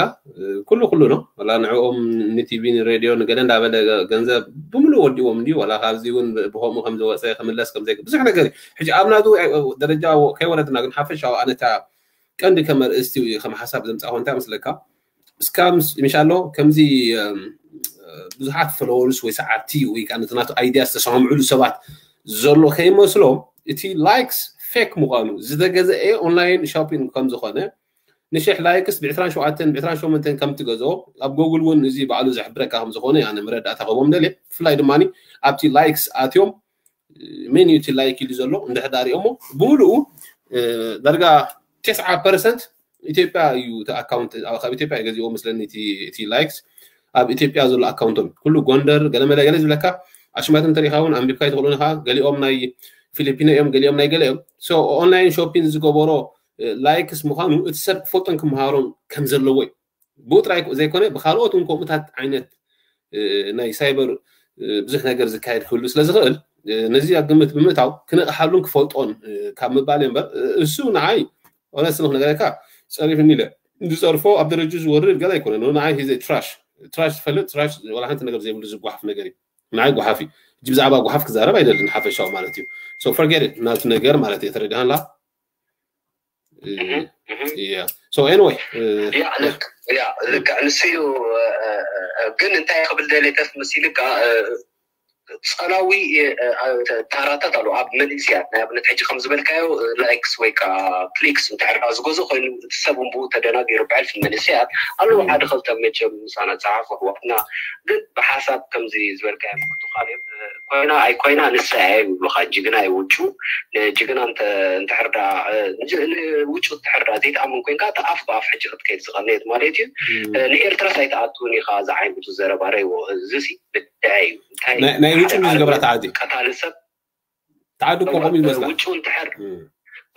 ኩሉ ኩሉ ነው። ወላ ንዕኦም ንቲቪ ንሬድዮ ንገለ እንዳበለ ገንዘብ ብምሉእ ወዲዎም እንድዩ። ወላ ካብዚ እውን ብከምኡ ከም ዝወፀ ክምለስ ከም ዘይክ ብዙሕ ነገር እዩ። ሕጂ ኣብ ናቱ ደረጃ ከይወረድና ግን ሓፈሻዊ ኣነታ ቀንዲ ከም ኣርእስቲ ከም ሓሳብ ዘምፃእኮ እንታይ መስለካ? እስካምስ ምሽ ኣሎ ከምዚ ብዙሓት ፎሎወርስ ወይ ሰዓብቲ ወይ ከዓ ነቲ ናቱ ኣይድያ ዝተሰማምዕሉ ሰባት ዘሎ ከይመስሎም እቲ ላይክስ ፌክ ምዃኑ ዝተገዘአ ኦንላይን ሾፒንግ ከም ዝኾነ ንሽሕ ላይክስ ብዕስራን ሸውዓተን ብዕስራን ሸሞንተን ከም ትገዝኦ ኣብ ጎግል እውን እዚ ባዕሉ ዘሕብረካ ከም ዝኾነ ኣነ መረዳእታ ክህቦም ደልየ። ብፍላይ ድማ ኣብቲ ላይክስ ኣትዮም ሜን እዩ እቲ ላይክ ኢሉ ዘሎ እንድሕር ዳኣ ሪኦሞ ብምሉኡ ዳርጋ ተስዓ ፐርሰንት ኢትዮጵያ እዩ እቲ ኣካውንት ካብ ኢትዮጵያ እዩ ገዚኦ መስለኒ እቲ ላይክስ ኣብ ኢትዮጵያ ዘሎ ኣካውንቶም ኩሉ ጎንደር ገለመለ ገለ ዝብለካ ኣሽማት እንተሪኢኻ እውን ኣንቢብካ ይትኽእሉ ኢኻ። ገሊኦም ናይ ፊሊፒኖ እዮም፣ ገሊኦም ናይ ገለ እዮም። ኦንላይን ሾፒን ዝገበሮ ላይክስ ምዃኑ እቲ ሰብ ክፈልጦን ክመሃሮን ከም ዘለዎ እዩ። ብኡ ጥራይ ዘይኮነ ብካልኦት እውን ከምኡታት ዓይነት ናይ ሳይበር ብዙሕ ነገር ዝካየድ ክህሉ ስለ ዝኽእል ነዚ ኣብ ግምት ብምእታው ክነቕሓሉን ክፈልጦን ካብ ምባል እምበር እሱ ንዓይ ኦነስት ንክነገረካ ፀሪፍኒ ኢለ ዝፀርፎ ኣብ ደረጅ ዝወርድ ገለ ኣይኮነን። ንዓይ ሂዘ ትራሽ ትራሽ ትፈልጥ ትራሽ ወላ ሓንቲ ነገር ዘይብሉ ዝጓሓፍ ነገር እዩ። ንዓይ ጓሓፍ እዩ። እጅ ብዛዕባ ጓሓፍ ክዛረብ ኣይደልን ሓፈሻዊ ማለት እዩ። ሶ ፈርጌት ናቱ ነገር ማለት እየ ተረዲሃንላ። ያ ልክዕ ንሱ እዩ። ግን እንታይ ክብል ደሌተስ መሲልካ ፀላዊ ታራታት ኣሉ ኣብ መንእስያት ናይ ኣብነት ሕጂ ከም ዝበልካዮ ላይክስ ወይ ከዓ ክሊክስ እንተሕርዳ ዝገዙ ኮይኑ እቲ ሰብ እንብኡ ተደናጊሩ ብዕልፊ መንእስያት ኣለዉ ሓደ ክልተ መቸም ምሳና ፀሓፉ ኣሕዋትና ግን ብሓሳብ ከምዚ ዝበልካዮ ምክቱ ካሌብ ኮይና ኣይኮይና ንሳ እያ ይብሉካ ጅግና ይውጩ ጅግና እንተሕርዳ ውጩ እንተሕርዳ ዘይትኣምን ኮይንካ እቲ ኣፍ ብኣፍ ሕጂ ክትከይድ ዝቐነየት ማለት እዩ። ንኤርትራስ ኣይትኣትውን ኢኻ ዝዓይነቱ ዘረባ ረይዎ እዚሲ ብድዐ እዩ። ናይ ውጭ ዝገብራ ተዓዲ ቀታሊ ሰብ ተዓዲ እኮ ከምኡ ይመስላ ውጭ እንድሕር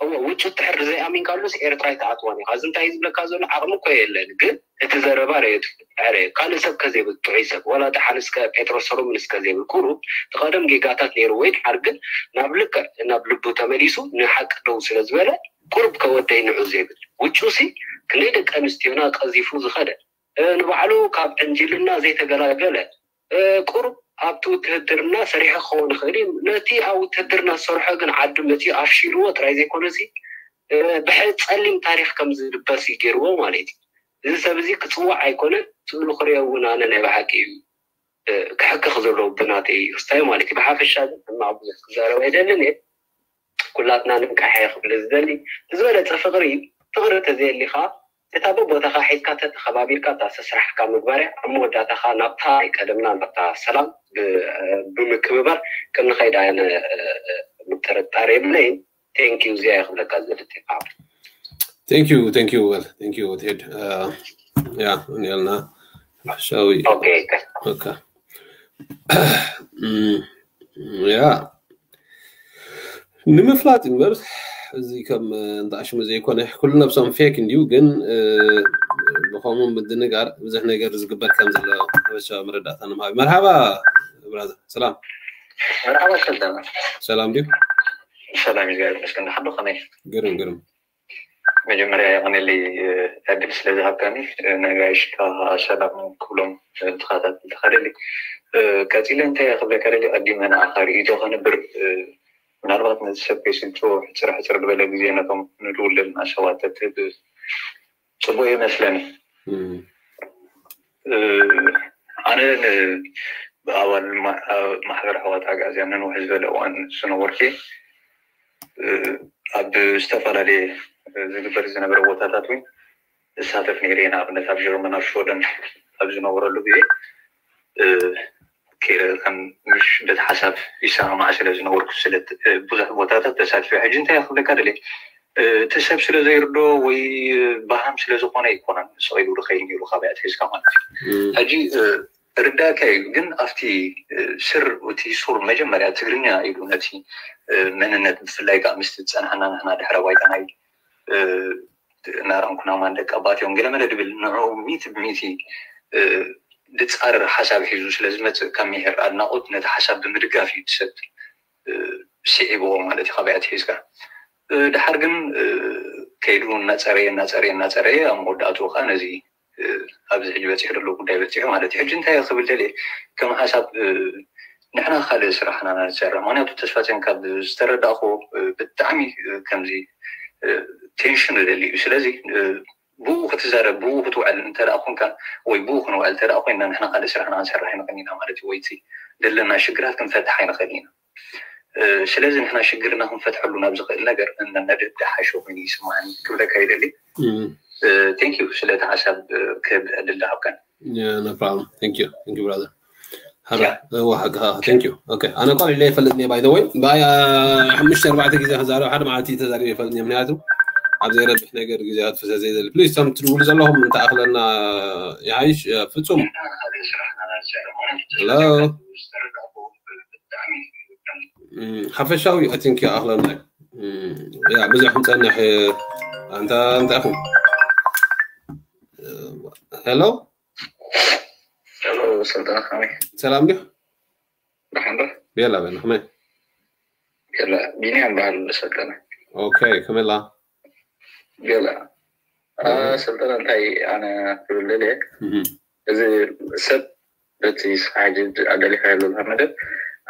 እዎ ውጭ እንድሕር ዘይኣሚንካሉስ ኤርትራ ኣይትኣትዋን ኢኻ። እዚ እንታይ ዝብለካ ዘሎ ዓቕሚ እኮ የለን፣ ግን እቲ ዘረባ ረየቱ ድሕር ካልእ ሰብ ከዘይብል ጥዑይ ሰብ ዋላ ደሓን እስከ ጴጥሮስ ሰሎሞን እስከ ዘይብል ቁሩብ እቲ ቀደም ጌጋታት ነይሩ ወይ ድሓር ግን ናብ ልክዕ ናብ ልቡ ተመሊሱ ንሓቂ ደው ስለ ዝበለ ቁሩብ ከወደይ ንዑ ዘይብል ውጩ ሲ ክንደይ ደቂ ኣንስትዮና ቀዚፉ ዝኸደ ንባዕሉ ካብ ዕንጅልና ዘይተገላገለ ቁሩብ ኣብቲ ውትህድርና ሰሪሑ ክኸውን ይኽእል እዩ። ነቲ ኣብ ውትህድርና ዝሰርሖ ግን ዓዲ መፂኡ ኣፍሺልዎ ጥራይ ዘይኮነሲ ብሕፀሊም ታሪኽ ከም ዝልበስ እዩ ገይርዎ ማለት እዩ። እዚ ሰብ እዚ ክፅዋዕ ኣይኮነን ስእሉ ክሪኦ እውን ኣነ ናይ ብሓቂ እዩ ክሕክኽ ዘለዎ ብናተይ ክስታይ ማለት እዩ። ብሓፈሻ ግን ሕማቕ ብዙሕ ክዛረብ ኣይደልን እየ። ኩላትና ንንቃሕ እየ ክብል ዝደሊ። ብዝበለፀ ፍቕሪ ፍቕሪ ተዘየሊኻ እታ በቦታኻ ሒዝካ ተተኸባቢርካ እታ ስራሕካ ምግባር እያ። ኣብ መወዳእታኻ ናብታ ናይ ቀደምና ናብታ ሰላም ብምክብባር ከም ንኸይድ ኣነ ምጥርጣር የብለይን። ቴንኪዩ እዚኣ እየ ክብለካ ዝደሊ። Thank you thank you well thank you ቴድ ያ እኒአልና ሓሻዊ ኦኬ ኦኬ ያ ንምፍላጥ እምበር እዚ ከም እንዳ ኣሽሙ ዘይኮነ ኩሉ ነብሶም ፌክ እንድዩ ግን ብኸምኡ ምድንጋር ብዙሕ ነገር ዝግበር ከም ዘሎ ሓበሻዊ መረዳእታ ንምሃብ መርሃባ ብራዘር ሰላም መርሓባ ሰላም ሰላም ድዩ ሰላም እግዚኣብሔር ይመስገን ሓዶ ከመይ ግርም ግርም መጀመርያ የቐነለይ ዕድል ስለ ዝሃብካኒ ነጋይሽካ ሰላም ክብሎም ተኸታተልቲ ከደሊ ቀፂለ እንታይ ክብለካ ደሊ ቀዲመ ንኣኻ ርእይቶ ከንብር ምናልባት ነዚ ሰብ ከይስልችዎ ሕፅር ሕፅር ዝበለ ግዜ ነቶም ንድውል ዘለና ሰባት ተትህብ ፅቡቅ ይመስለኒ ኣነ ኣባል ማሕበር ኣሕዋት ኣግኣዝያን ንንውሕ ዝበለ እዋን ዝነበርኩ ኣብ ዝተፈላለየ ዝግበር ዝነበረ ቦታታት እውን እሳተፍ ነይረ እየ ንኣብነት ኣብ ጀርመን ኣብ ሽወደን ኣብ ዝነበረሉ ግዜ ከም ምሽ በቲ ሓሳብ ይሰማማዕ ስለ ዝነበርኩ ስለ ብዙሕ ቦታታት ተሳትፈ ሕጂ እንታይ ክብለካ ደለ እቲ ሰብ ስለ ዘይርዶ ወይ ባሃም ስለ ዝኾነ ኣይኮነን ስቕ ኢሉ ዝኸይድ ነይሩ ካበይ ኣትሒዝካ ማለት እዩ ሕጂ ርዳካ እዩ ግን ኣብቲ ስር እቲ ሱር መጀመርያ ትግርኛ ኢሉ ነቲ መንነት ብፍላይ ከዓ ምስቲ ዝፀናሕና ንሕና ድሕረ ባይታ ናይ ናራንኩና ማን ደቂ ኣባት እዮም ገለመለ ድብል ንዑ ሚቲ ብሚቲ ድፃረር ሓሳብ ሒዙ ስለዝመፅእ ካብ ሚሄር ኣድናቆት ነቲ ሓሳብ ብምድጋፍ እዩ ትሰብ ስዒብዎ ማለት እዩ። ካባያ ትሒዝካ ድሓር ግን ከይዱ እናፀረየ እናፀረየ እናፀረየ ኣብ መወዳእትኡ ከዓ ነዚ ኣብዚ ሕጂ በፂሑ ዘሎ ጉዳይ በፂሑ ማለት እዩ። ሕጂ እንታይ ክብል ደልየ ከም ሓሳብ ንሕና ካልእ ስራሕና ኢና ንሰርሕ። ምክንያቱ ተስፋፅዮን ካብ ዝተረዳእኩ ብጣዕሚ ከምዚ ቴንሽን ደሊ እዩ። ስለዚ ብኡ ክትዛረብ ብኡ ክትውዕል እንተ ኮንካ ወይ ብኡ ክንውዕል እንተ ኮይና ንሕና ካልእ ስራሕና ክንሰርሕ ኣይንኽእል ኢና ማለት እዩ። ወይ ዘለና ሽግራት ክንፈትሕ ኣይንኽእል ኢና። ስለዚ ንሕና ሽግርና ክንፈትሐሉ ናብ ዝኽእል ነገር እነድህብ ደሓሸ ኮይኑ ይስማዓኒ ክብለካ ይደሊ። ቴንክ ዩ ስለቲ ሓሳብ ክህብ ዕድል ዝሃብካን። No problem. Thank you. Thank you, brother. Hello. Thank you. Okay. ኣነ ቋል ኢለ ይፈልጥ እየ by the way። ባይ ሓሙሽተ ኣርባዕተ ግዜ ክዛረብ ሓደ መዓልቲ ተዛሪበ ይፈልጥ እየ። ምክንያቱ ኣብ ዘይረብሕ ነገር ግዜ ኣጥፍሰ ዘይደሊ። ፕሊዝ፣ እቶም ትድውሉ ዘለኹም እንተኣኽለና ይሓይሽ። ፍጹም። Hello. ሓፈሻዊ I think ይኣኽለና። ያ ብዙሕ ክንጸንሕ ኣንታ እንታይ ኢኹም? Hello. ሰልጠነ ከመይ? ሰላም ዲኹ? ደሓን ዶ? ቤላ በል ከመይ? ቤላ ቢንያም በሃል ሰልጠነ። ኦኬ ከመላ? ቤላ ሰልጠነ እንታይ ኣነ ክብል ደልየ እዚ ሰብ በቲ ሓጂ ኣደሊኻ ያለልካ መደብ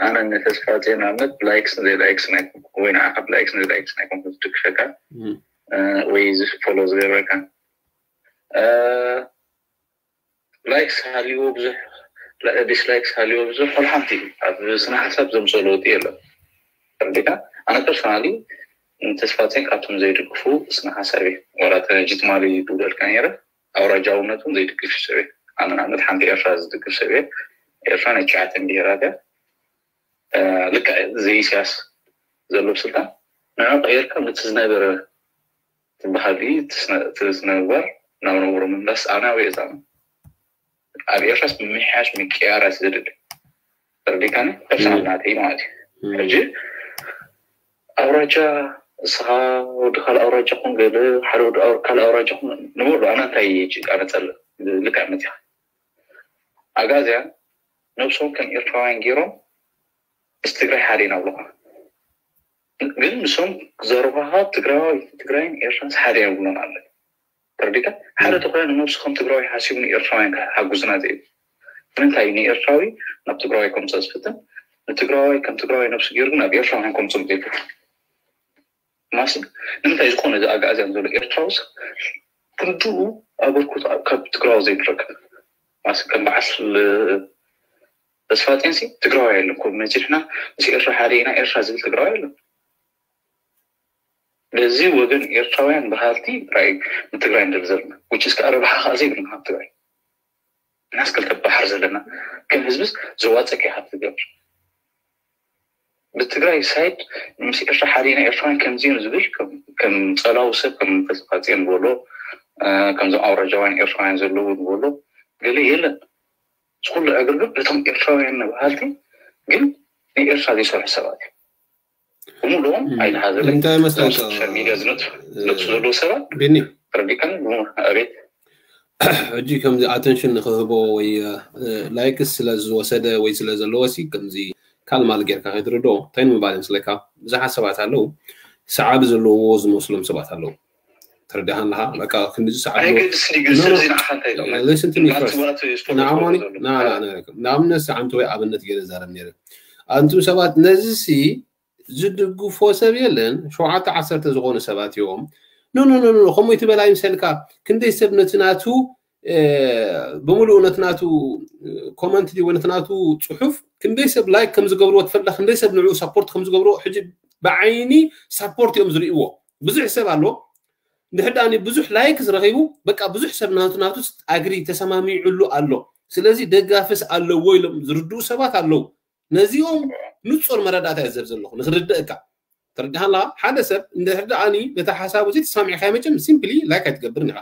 ኣነ ንተስፋ ዜና መት ላይክስ ዘይላይክስ ናይ ወይ ንዓኻ ብላይክስ ዘይላይክስ ናይ ኮንኩ ዝድግፈካ ወይ እዚ ፎሎ ዝገብረካ ላይክስ ሃልይዎ ብዙሕ ዲስላይክስ ሃልይዎ ብዙሕ ወላ ሓንቲ እዩ ኣብ ስነ ሓሳብ ዘምፅኦ ለውጢ የለን ተረዲካ ኣነ ፐርሶናሊ ንተስፋ ዜን ካብቶም ዘይድግፉ ስነ ሓሳብ እዩ ወላ ተጅትማሊ ይብለልካ ነይረ ኣውራጃውነቱን ዘይድግፍ ሰብ እየ ኣነ ንኣብነት ሓንቲ ኤርትራ ዝድግፍ ሰብ እየ ኤርትራ ናይ ትሽዓተን ብሄራት እያ ልክዕ ዘይስያስ ዘሎ ስልጣን ንዑ ቀይርካ ነቲ ዝነበረ ትበሃል እቲ ስነምግባር ናብ ነብሮ ምምላስ ኣናዊ እዛ ኣብ ኤርትራስ ምምሕያሽ ምቅያራት ዝድል ተረዲካኒ ፐርሰናል ናተይ ማለት እዩ ሕጂ ኣውራጃ እስኻ ወዲ ካልእ ኣውራጃ ኹን ገለ ሓደ ወዲ ካልእ ኣውራጃ ኹን ንበሉ ኣነ እንታይ ጭቃ ነፀልእ ልክዕ መፂኻ ኣጋዝያን ነብሶም ከም ኤርትራውያን ገይሮም ምስ ትግራይ ሓደ ኢና ብለኻ ግን ንሶም ዘረባኻ ትግራዋይ ትግራይን ኤርትራንስ ሓደ እዮም ብሎን ኣለ ተረዲካ ሓደ ተኮይና ንነብሱ ከም ትግራዋይ ሓሲቡ ንኤርትራውያን ሓጉዝና ዘይብ ንምንታይ ንኤርትራዊ ናብ ትግራዋይ ከምፅኦ ዝፍትን ንትግራዋይ ከም ትግራዋይ ነብሱ ገይሩ ናብ ኤርትራውያን ከምፅኦም ዘይፍትን ማሲ ንምንታይ ዝኾነ እዚ ኣጋእዝያን ዘሎ ኤርትራውስ ክንድኡ ኣበርኩት ካብ ትግራዊ ዘይትረክብ ማሲ ከም በዓል ተስፋ ጤንሲ ትግራዊ የለን ኮ መፂሕና ምስ ኤርትራ ሓደ ኢና ኤርትራ ዝብል ትግራዊ የለን በዚ ወገን ኤርትራውያን በሃልቲ ራይ ንትግራይ ንደል ዘለና ውጭ እስከ ረብሓ ከዓ ዘይብልና ኣብ ትግራይ ናስ ክልተ ባሕር ዘለና ከም ህዝብስ ዘዋፀ ከይካ ትገብር ብትግራይ ሳይድ ምስ ኤርትራ ሓደና ኤርትራውያን ከምዚኦም ዝብል ከም ፀላዊ ሰብ ከም ተስፋፅዮን ዝበሎ ከምዞም ኣውራጃውያን ኤርትራውያን ዘለዉ ዝበሎ ገለ የለን ዝኩሉ ዕግርግር ነቶም ኤርትራውያን ንበሃልቲ ግን ንኤርትራ ዘይሰርሑ ሰባት እዮም ብምሉኦም ኣይልሓዘለ እንታይ መስለካ ሚዲያ ዝነጥፉ ዘለዉ ሰባት ቢኒ ረዲካን ኣቤት ሕጂ ከምዚ ኣተንሽን ንክህቦ ወይ ላይክስ ስለ ዝወሰደ ወይ ስለ ዘለዎ ሲ ከምዚ ካልማል ጌርካ ከይትርድኦ እንታይ ንምባል ይመስለካ ብዙሓት ሰባት ኣለዉ ሰዓቢ ዘለውዎ ዝመስሎም ሰባት ኣለዉ ተረዲኻ ኣለኻ በቃ ክንዲ ሰዓቢ ንኣብነት ሰዓንቲ ወይ ኣብነት ገለ ዛረብ ነረ ኣንቱም ሰባት ነዚ ሲ ዝድግፎ ሰብ የለን ሸውዓተ ዓሰርተ ዝኾኑ ሰባት እዮም ኖኖኖኖ ከምኡ ይትበል ኣይምሰልካ ክንደይ ሰብ ነቲ ናቱ ብምሉኡ ነቲ ናቱ ኮመንት ድዩ ነቲ ናቱ ፅሑፍ ክንደይ ሰብ ላይክ ከም ዝገብርዎ ትፈልጣ ክንደይ ሰብ ንዕኡ ሳፖርት ከም ዝገብርዎ ሕጂ ብዓይኒ ሳፖርት እዮም ዝርእይዎ ብዙሕ ሰብ ኣሎ እንድሕር ደኣ ብዙሕ ላይክ ዝረኺቡ በቃ ብዙሕ ሰብ ናቱ ናቱ ኣግሪ ተሰማሚዕሉ ኣሎ ስለዚ ደጋፍስ ኣለዎ ኢሎም ዝርድኡ ሰባት ኣለዉ ነዚኦም ንፁር መረዳእታ እየ ዘብ ዘለኹ ንክርድእካ ተረዲኻ ኣለካ ሓደ ሰብ እንድሕር ደኣኒ ነቲ ሓሳቡ እዚ ተሳሚዕካ መቸም ሲምፕሊ ላይክ ኣይትገብርን ኢኻ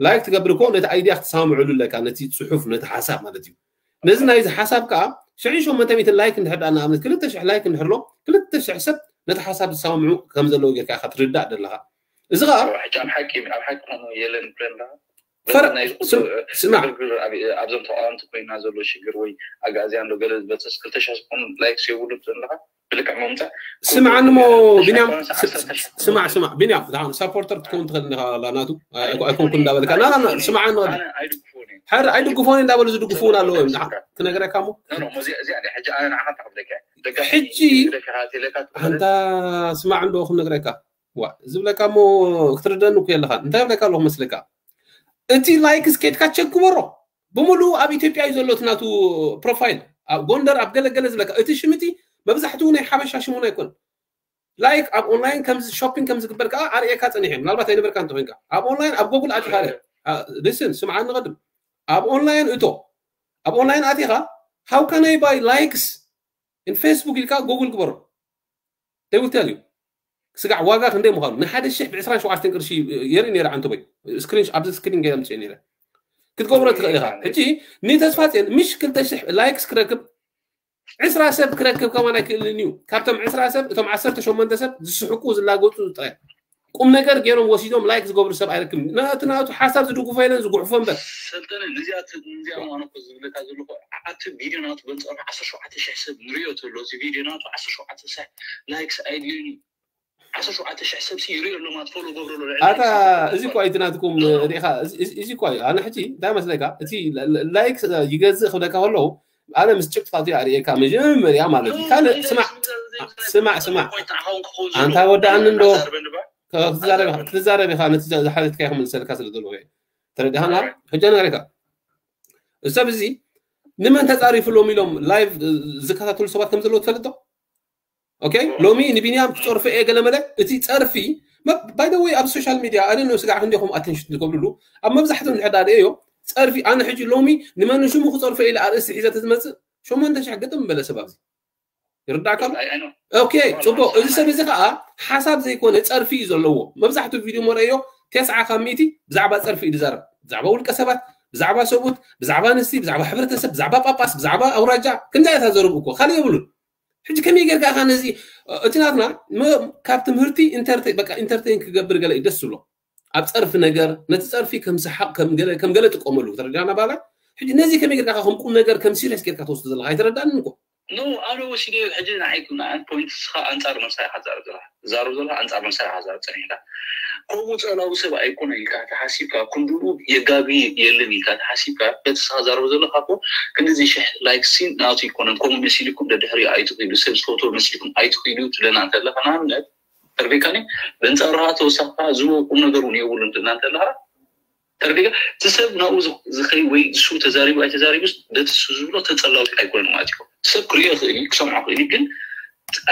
ላይክ ትገብር እኮ ነቲ ኣይድያ ክትሰማምዕሉ ኣለካ ነቲ ፅሑፍ ነቲ ሓሳብ ማለት እዩ ነዚ ናይዚ ሓሳብ ከዓ ሽሕን ሸሞንተ ሚእትን ላይክ እንድሕር ደኣ ንኣብነት ክልተ ሽሕ ላይክ እንድሕር ኣሎ ክልተ ሽሕ ሰብ ነቲ ሓሳብ ዝሰማምዑ ከም ዘለዉ ጌርካ ኢኻ ትርዳእ ዘለኻ እዚ ከዓ ሕጂ ኣብ ሓቂ ኣብ ሓቂ ኮኑ የለን ብለና ፈረ- ናይ ስም- ስማዕ ግርግር ኣብ- ኣብዞም ተቃወምቲ ኮይና ዘሎ ሽግር ወይ ኣጋእዝያን ዶ ገለ ዝበፅስ ክልተ ሽሕ ዝኾኑ ላይክስ የብሉ ትብለካ ብልክዕ መምፃእ ስምዓኒ ሞ ቢንያም ስማዕ ስማዕ ቢንያም ዳን ሳፖርተር ክትከውን ትኽእል ኢኻ ናቱ ኣይኮንኩ እንዳበልካ ና ና ስምዓኒ ሕር ኣይድግፎን እንዳበሉ ዝድግፉ እውን ኣለዎ እዮም ክነግረካ ሞ ሕጂ ኣንታ ስማዕ እንዶ ክነግረካ ዋ ዝብለካ ሞ ክትርደኒ እኮ የለኻ እንታይ ብለካ ኣለኹ መስለካ እቲ ላይክ ስኬትካ ቸክ ግበሮ ብምሉ ኣብ ኢትዮጵያ እዩ ዘሎ ናቱ ፕሮፋይል ኣብ ጎንደር ኣብ ገለገለ ዝብለካ እቲ ሽምቲ መብዛሕትኡ ናይ ሓበሻ ሽሙን ኣይኮን ላይክ ኣብ ኦንላይን ከምዚ ሾፒንግ ከም ዝግበር ከዓ ኣርእየካ ፀኒሐ ምናልባት ኣይነበርካ እንተኮይንካ ኣብ ኦንላይን ኣብ ጎግል ኣቲካ ሪስን ስምዓኒ ንቀድም ኣብ ኦንላይን እቶ ኣብ ኦንላይን ኣቲካ how can I buy likes in Facebook ኢልካ ጎግል ግበሮ they will tell you ስጋዕ ዋጋ ክንደይ ምዃኑ ንሓደ ሽሕ ብዕስራን ሸውዓተን ቅርሺ የርኢ ነይረ ዓንተቦይ ስክሪን ኣብዚ ስክሪን ገይረ ምፅእ ነይረ ክትገብሮ ትኽእል ኢኻ ሕጂ ንተስፋፅን ምሽ ክልተ ሽሕ ላይክስ ክረክብ ዕስራ ሰብ ክረክብ ከማን ኣይክእልን እዩ ካብቶም ዕስራ ሰብ እቶም ዓሰርተ ሸሞንተ ሰብ ዝስሕቁ ዝላገፁ ጥራይ ቁም ነገር ገይሮም ወሲዶም ላይክ ዝገብሩ ሰብ ኣይረክብን እቲ ናቱ ሓሳብ ዝድግፎ የለን ዝጉሕፎ እምበር ሰልጠነ ነዚኣ ነዚኣ ማኖኮ ዝብለካ ዘለኹ ዓቲ ቪድዮ ናቱ በንፃሩ ዓሰርተ ሸውዓተ ሽሕ ሰብ ንሪኦ ዘሎ እዚ ቪድዮ ናቱ ዓሰርተ ሸውዓተ ሽሕ ላይክስ ኣይድልዩን እዩ ዓሰርተ ሸውዓተ ሽሕ ሰብ ይሪኦ ኣሎ ማለት ፎሎ ገብረሎ ኣታ እዚ እኳ እቲ ናትኩም ሪኢኻ እዚ እኳ እዩ ኣነ ሕጂ እንታይ መስለካ እቲ ላይክ ይገዝእ ክብለካ ከለዉ ኣነ ምስ ጭቅጥፋቱ ኣርእየካ መጀመርያ ማለት እዩ ካልእ ስማዕ ስማዕ ስማዕ ኣንታ ወዳኣኒ እንዶ ክትዛረብ ኢኻ ነቲ ዝሓተትካ ክምልሰልካ ስለ ዘለኹ ተረዲኻና ሕጂ ነገርካ ሰብ እዚ ንመን ተፃሪፉሎም ኢሎም ላይቭ ዝከታተሉ ሰባት ከም ዘለዉ ትፈልጥ ዶ ኦኬ ሎሚ ንቢንያም ክፀርፎ እየ ገለመለ እቲ ፀርፊ ባይደወይ ኣብ ሶሻል ሚድያ ኣነ ነው ስጋዕ ክንዲኹም ኣቴንሽን ዝገብርሉ ኣብ መብዛሕትኦም ድሕዳ ርእዮ ፀርፊ ኣነ ሕጂ ሎሚ ንመን ሽሙ ክፀርፎ ኢለ ኣርእስቲ ሒዘ ተዝመፅእ ሸሞንተ ሽሕ ግጥም በለ ሰብ ኣብዚ ይርዳእካ ኣሎ ኦኬ ፅቡቅ እዚ ሰብ እዚ ከዓ ሓሳብ ዘይኮነ ፀርፊ እዩ ዘለዎ መብዛሕትኡ ቪድዮ መረእዮ ተስዓ ካብ ሚእቲ ብዛዕባ ፀርፊ እዩ ዝዛረብ ብዛዕባ ውልቀ ሰባት ብዛዕባ ሰብኡት ብዛዕባ ኣንስቲ ብዛዕባ ሕብረተሰብ ብዛዕባ ጳጳስ ብዛዕባ ኣውራጃ ከምዚ ዓይነት ኣዘረቡ እኮ ካልእ የብሉን ሕጂ ከመይ ጌርካ ኢኻ ነዚ እቲ ናትና ካብ ትምህርቲ በቃ ኢንተርቴን ክገብር ገለ እዩ ደስ ዝብሎ ኣብ ፀርፊ ነገር ነቲ ፀርፊ ከም ሰሓቅ ከም ገለ ጥቀመሉ ተረዳና ባላ ሕጂ ነዚ ከመይ ጌርካ ከም ቁም ነገር ከም ሲሪየስ ጌርካ ትወስዶ ዘለካ ኣይተረዳንን እኮ ኖ ኣነ ወሲደ ሕጂ ንዓይ ንኣን ፖይንት ስኻ ኣንጻር መሳይ ሓዛር ዘለካ ዛሩ ዘለካ ኣንጻር መሳይ ሓዛር ጸኒሕካ ከምኡ ጸላዊ ሰብ ኣይኮነ ኢልካ ተሓሲብካ ክንድኡ የጋጊ የለን ኢልካ ተሓሲብካ በቲ ስኻ ዛረቡ ዘለካ ኮ ክንድዚ ሽሕ ላይክ ሲን ናቱ ይኮነን ከምኡ መሲልኩም ደድሕሪ ኣይትኽኢሉ ሰብ ዝፈትዎ መሲልኩም ኣይትኽኢሉ ትብለና እንተለካ ንኣብነት ተርቤካኒ በንጻሩ ከዓ ተወሳኺ ዝህቦ ቁም ነገር እውን የብሉን ትብልና እንተለካ ተረዲእካ እቲ ሰብ ናብኡ ዝኸይ ወይ እሱ ተዛሪቡ ኣይተዛሪቡስ በቲ እሱ ዝብሎ ተፀላዊ ኣይኮነን ማለት እዩ ሰብ ክሪኦ ይኽእል እዩ ክሰምዖ ይኽእል እዩ ግን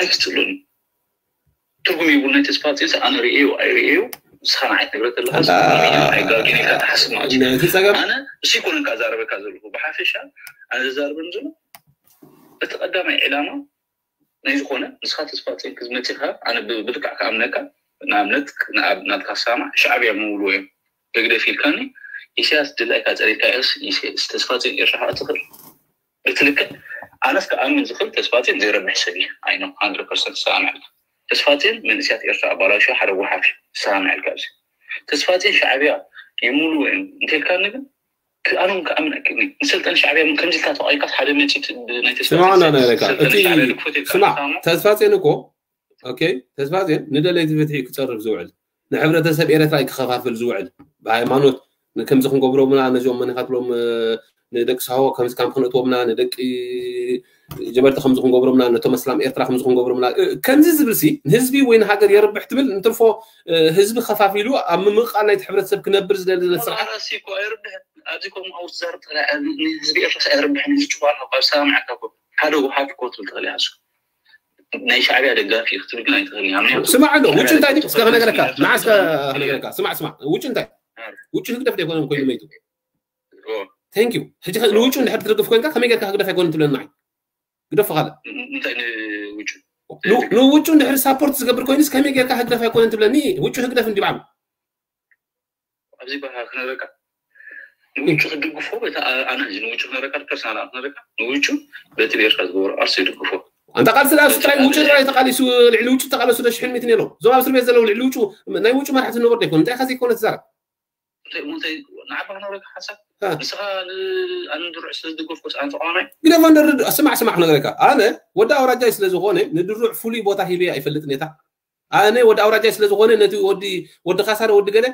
ኣይክትፅሉን እዩ ትርጉም የብሉ ናይ ተስፋ ፅንሲ ኣነ ርእዮ ኣይርእዮ ንስኻ ንዓይ ትነግረ ከለካ ኣይጋጌን ኢልካ ትሓስብ ማለት እዩ እቲ ፀገም ኣነ እሱ ይኮነን ከዓ ዛረበካ ዘለኹ ብሓፈሻ ኣነ ዘዛርበን ዘሎ እቲ ቀዳማይ ዕላማ ናይ ዝኾነ ንስኻ ተስፋ ፅንኪ ዝመፅኻ ኣነ ብልክዕ ክኣምነካ ንኣብነት ናትካ ክሰማዕ ሻዕብያ ምውልዎ እዮም ህግደፍ ኢልካኒ ኢሳያስ ድላይካ ፀሪርካ ኢስ ተስፋ ፅንኪ ኤርትራ ከዓ ትኽእል ብትልክዕ ኣነስ ክኣምን ዝኽእል ተስፋ ፅንኪ ዘይረብሕ ሰብ እዩ ኣይኖ ሃንድረድ ፐርሰንት ሰማምዐልካ ተስፋ ፅን መንእስያት ኤርትራ ኣባላሹ ሓደ ጉሓፍ እዩ ሰማምዐልካ ኣብዚ ተስፋ ፅን ሻዕብያ ይምውልዎ እዮም እንተልካኒ ግን ኣነ እውን ክኣምን ኣይክእልን ንስልጠን ሻዕብያ እውን ከምዚ ኢልካ ተቋይካስ ሓደ መፂት ናይ ተስፋ ስማዕ እንዳነገረካ እቲ ስማዕ ተስፋ ፅን እኮ ኦኬ ተስፋ ፅን ንደለይቲ ፍትሒ ክፀርፍ ዝውዕል ንሕብረተሰብ ኤረትራ ክኸፋፍል ዝውዕል ብሃይማኖት ከምዚ ክንገብሮምና ነዚኦም መኒኻትሎም ንደቂ ሳሆ ከምዚ ካምፕ ክነእትዎምና ንደቂ ጀበርቲ ከምዚ ክንገብሮምና ነቶም ኣስላም ኤርትራ ከምዚ ክንገብሮምና ከምዚ ዝብል ሲ ንህዝቢ ወይ ንሃገር የርብሕ ትብል እንትርፎ ህዝቢ ከፋፊሉ ኣብ ምምቕቓል ናይቲ ሕብረተሰብ ክነብር ዝደሊ ስርዓት ኣረሲ እኮ ኣይርብሕን ኣብዚ ከምኡ ኣውትዛር ጥራሕ ንህዝቢ ኤርትራ ኣይርብሕን እዚ ጭዋና ካብ ሰማምዐካ እኮ ሓደ ውሓት እኮ ትብል ትኽእል ኢኻ ናይ ሻዕብያ ደጋፊ ክትብል ግን ኣይትኽእል ኢኻ ስማዕ ኣሎ ውጭ እንታይ ድዩ እስከ ክነግረካ ንዓ እስከ ክነግረካ ስማዕ ስማዕ ውጭ እንታይ ውጭ ህግደፍ ደይኮነን ኮይኑ መይቱ thank you ሕጂ ንውጩ እንድሕር ትደግፍ ኮይንካ ከመይ ጌርካ ህግደፍ ኣይኮነን ትብለኒ ንዓይ ግደፎ ካልእ ንውጩ እንድሕር ሳፖርት ዝገብር ኮይኑስ ከመይ ጌርካ ህግደፍ ኣይኮነን ትብለኒ ውጩ ህግደፍ እንዲ ባዕሉ ኣብዚ በሃ ክነግረካ ንውጩ ክድግፎ በታ ኣነ ሕጂ ንውጩ ክነግረካ ፐርሰናል ክነግረካ ንውጩ በቲ ቤርካ ዝገበሮ ኣርሶ ይድግፎ ኣንታ ቃልሲ ዳኣ ጥራይ ውጩ ጥራይ ተቃሊሱ፣ ልዕሊ ውጩ ተቃለሱ ዶ ሽሕን ሚእትን የለው። እዞም ኣብ እስር ቤት ዘለዉ ልዕሊ ውጩ ናይ ውጩ መራሕቲ ዝነበሩ ዶ ይኮኑ? እንታይ ከዚ ይኮነ ትዛረብ? እንታይ እንታይ ንዓባ ክነግረካ ሓሳብ ንስኻ ኣነ ድሩዕ ስለ ዝደገፍኩስ ኣነ ተቃዋማይ ግደፎ። እንደ ርድ- ስማዕ ስማዕ ክነግረካ፣ ኣነ ወዲ ኣውራጃይ ስለ ዝኾነ ንድሩዕ ፍሉይ ቦታ ሂበ ኣይፈልጥን እየ። ኣነ ወዲ ኣውራጃይ ስለ ዝኾነ ነቲ ወዲ ወዲ ካሳረ ወዲ ገለ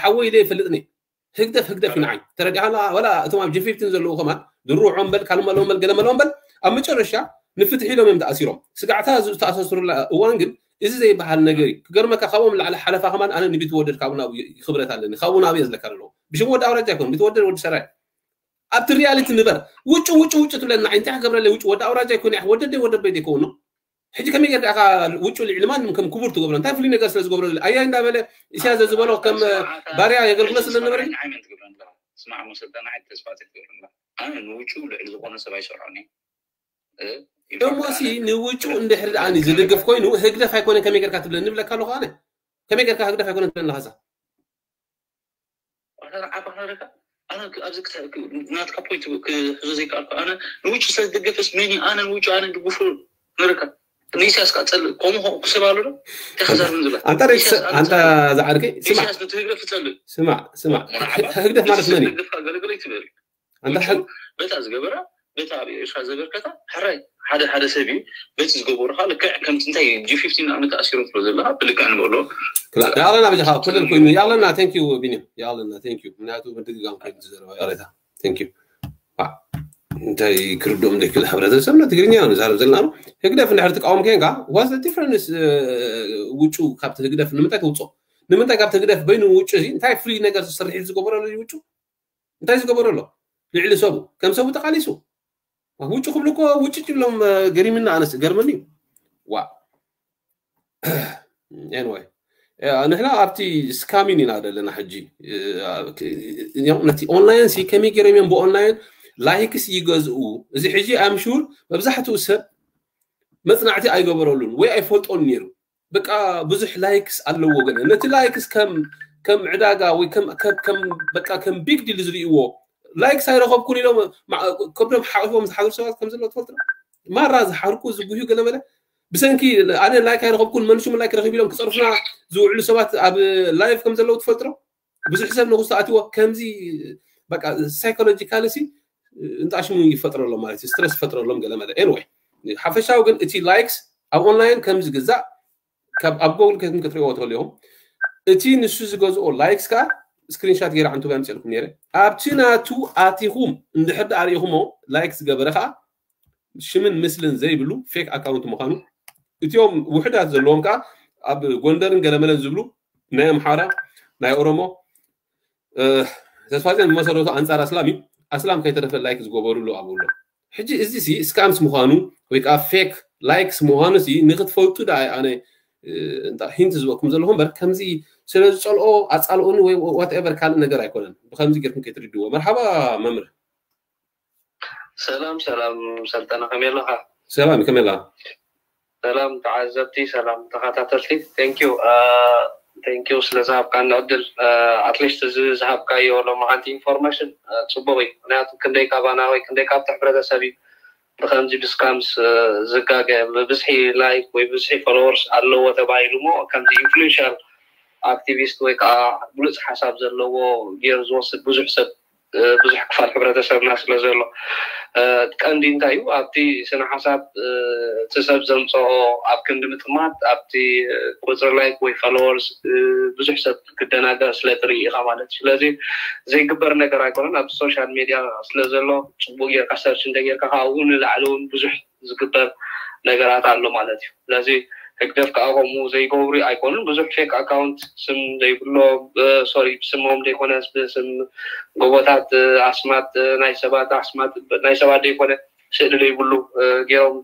ሓወይ ኢለ ኣይፈልጥን እየ። ህግደፍ ህግደፍ እዩ ንዓይ። ተረዲእካ? ወላ እቶም ኣብ ጂ ፊፍቲን ዘለዉ ከማን ድሩዖም በል ካልእ መለዎም በል ገለ መለዎም በል ኣብ መጨረሻ ንፍትሒ ኢሎም እዮም ተኣሲሮም። ስጋዕታ ዝተኣሳስሩላ እዋን ግን እዚ ዘይበሃል ነገር እዩ። ክገርመካ ካብኦም ላዕሊ ሓለፋ ከማን ኣነ ንቢትወደድ ካብኡ ናብ ክብረት ኣለኒ። ካብኡ ናብ እየ ዝለካ ኣለዎ። ብሽም ወዲ ኣውራጃ ይኮን ቢትወደድ ወዲ ሰራይ ኣብቲ ሪያሊቲ ንበር። ውጭ ውጭ ውጭ ትብለና እንታይ ክገብረለይ ውጭ ወዲ ኣውራጃ ይኮን ወደደይ ወደበይ ዘይከውን ነው። ሕጂ ከመይ ጌርካ ኢኻ ውጩ ልዕሊ ማንም ከም ክቡር ትገብሮ? እንታይ ፍሉይ ነገር ስለ ዝገብረሉ ኣያ እንዳበለ ኢሳያስ ዝበሎ ከም ባርያ የገልግሎ ስለ ዝነበረ ስማዕ መሰልጠና ተስፋ ትገብረላ ኣነ ንውጩ ልዕሊ ዝኾነ ሰብ ኣይሰርዖን እሞሲ ንውጩ እንድሕር ደኣኒ ዝድግፍ ኮይኑ ህግደፍ ኣይኮነ ከመይ ጌርካ ትብለ ንብለካ ኣለኹ ኣነ ከመይ ጌርካ ህግደፍ ኣይኮነ ትብለና ኸሳ ኣባህረካ ኣነ ኣብዚ ናትካ ፖይንት ክሕዞ ዘይከኣልኩ ኣነ ንውጭ ስለ ዝደገፈስ መኒ ኣነ ንውጭ ኣነ ድግፉ ንረካ ንኢሳያስ ካ ጸልእ ከምኡ ክስብ ኣሎ ዶ ተኸዛርብን ዝብላ ኣንታ ኣንታ ዝዓርከይ ስማዕ ኢሳያስ ነቲ ህግደፍ ትጸልእ ስማዕ ስማዕ ህግደፍ ማለት መን እዩ ገለገለ ትብል ኣንታ በታ ዝገበራ በታ ኣብ ኤርትራ ዘበርከታ ሕራይ ሓደ ሓደ ሰብ እዩ በቲ ዝገበሩ ከዓ ልክዕ ከምቲ እንታይ ጂ ፊፍቲን ንኣብነት ተኣሲሮም ስለ ዘለካ ብልክዕ ንበሎ ይኣለና በጃኻ ክልል ኮይኑ ይኣለና thank you ቢኒ ይኣለና thank you ምክንያቱ ምድግጋም ኮይኑ ዝዘረባ ይቕሬታ thank you እንታይ ክርድኦም ዘይክእል ሕብረተሰብና ትግርኛ ንዛረብ ዘለና ነው ህግደፍ እንድሕር ትቃወም ኮንካ what's the difference ውጩ ካብቲ ህግደፍ ንምንታይ ተውፅኦ ንምንታይ ካብቲ ህግደፍ በይኑ ውጩ እዚ እንታይ ፍሉይ ነገር ዝስርሒት ዝገበረሉ ውጩ እንታይ ዝገበረሎ ልዕሊ ሰቡ ከም ሰቡ ተቃሊሱ ውጭ ክብሉ እኮ ውጭ ጭብሎም ገሪምና ኣነስ ገርመኒ ዋ anyway ንሕና ኣብቲ ስካሚን ኢና ዘለና ሕጂ ነቲ ኦንላይን ሲ ከመይ ገይሮም እዮም ብኦንላይን ላይክስ ይገዝኡ እዚ ሕጂ ኣምሹር መብዛሕትኡ ሰብ መፅናዕቲ ኣይገበረሉን ወይ ኣይፈልጦን ነይሩ በቃ ብዙሕ ላይክስ ኣለዎ ገለ ነቲ ላይክስ ከም ከም ዕዳጋ ወይ ከም ከም በቃ ከም ቢግ ዲል ዝርእዎ ላይክስ ኣይረኸብኩን ኢሎም ከብዶም ሓቂፎም ዝሓድሩ ሰባት ከም ዘለዉ ትፈልጡ ማራ ዝሓርቁ ዝጉህዩ ገለ መለ ብሰንኪ ኣነ ላይክ ኣይረኸብኩን መንሹም ላይክ ረኺብ ኢሎም ክፀርፉና ዝውዕሉ ሰባት ኣብ ላይፍ ከም ዘለዉ ትፈልጡ ብዙሕ ሰብ ንክሱ ኣትዎ ከምዚ በቃ ሳይኮሎጂካሊ ሲ እንጣሽሙ ይፈጥረሎም ማለት እዩ ስትረስ ይፈጥረሎም ገለ መለ anyway ሓፈሻዊ ግን እቲ ላይክስ ኣብ ኦንላይን ከም ዝግዛእ ካብ ኣብ ጎግል ከትም ክትሪእዎ ትኽእሉ ኢኹም እቲ ንሱ ዝገዝኦ ላይክስ ከዓ ስክሪንሻት ገይረ ዓንቱ ኣምፅልኩም ነይረ ኣብቲ ናቱ ኣቲኹም እንድሕር ዳኣ ርኢኹሞ ላይክ ዝገበረ ከዓ ሽምን ምስልን ዘይብሉ ፌክ ኣካውንት ምዃኑ እቲኦም ውሕዳት ዘለዎም ከዓ ኣብ ጎንደርን ገለመለን ዝብሉ ናይ ኣምሓራ ናይ ኦሮሞ ተስፋፅዮን ዝመሰረቱ ኣንፃር ኣስላም እዩ ኣስላም ከይተረፈ ላይክ ዝገበሩሉ ኣብሎ ሕጂ እዚ ሲ ስካምስ ምዃኑ ወይ ከዓ ፌክ ላይክስ ምዃኑ ሲ ንክትፈልጡ ዳ ኣነ ሂንት ዝበኩም ዘለኹ እምበር ከምዚ ስለ ዝፀልኦ ኣፃልኦኒ ወይ ዋትኤቨር ካልእ ነገር ኣይኮነን ብከምዚ ጌርኩም ከይትርድዎ መርሓባ መምህር ሰላም ሰላም ሰልጠነ ከመይ ኣለኻ ሰላም ከመይ ኣለኻ ሰላም ተዓዘብቲ ሰላም ተኸታተልቲ thank you thank you ስለ ዝሃብካኒ ዕድል ኣትሊስት እዚ ዝሃብካዮ ሎማዓንቲ ኢንፎርሜሽን ፅቡቅ እዩ ምክንያቱ ክንደይ ካባና ወይ ክንደይ ካብቲ ሕብረተሰብ እዩ ብከምዚ ብስካምስ ዝጋገ ብብዝሒ ላይክ ወይ ብዝሒ ፎሎወርስ ኣለዎ ተባሂሉ ሞ ከምዚ ኢንፍሉንሻል ኣክቲቪስት ወይ ከዓ ብሉፅ ሓሳብ ዘለዎ ገይሩ ዝወስድ ብዙሕ ሰብ ብዙሕ ክፋል ሕብረተሰብና ስለ ዘሎ ቀንዲ እንታይ እዩ ኣብቲ ስነ ሓሳብ እቲ ሰብ ዘምፀኦ ኣብ ክንዲ ምጥማት ኣብቲ ቁፅሪ ላይክ ወይ ፎሎወርስ ብዙሕ ሰብ ክደናገር ስለ ትርኢ ኢኻ ማለት እዩ ስለዚ ዘይግበር ነገር ኣይኮነን ኣብ ሶሻል ሜድያ ስለ ዘሎ ፅቡቅ ጌርካ ሰርች እንተ ጌርካ ካብኡ ንላዕሊ እውን ብዙሕ ዝግበር ነገራት ኣሎ ማለት እዩ ስለዚ ህግደፍ ከዓ ከምኡ ዘይገብሩ ኣይኮኑን ብዙሕ ፌክ ኣካውንት ስም ዘይብሎ ሶሪ ብስሞም ዘይኮነ ብስም ጎቦታት ኣስማት ናይ ሰባት ኣስማት ናይ ሰባት ዘይኮነ ስእሊ ዘይብሉ ገይሮም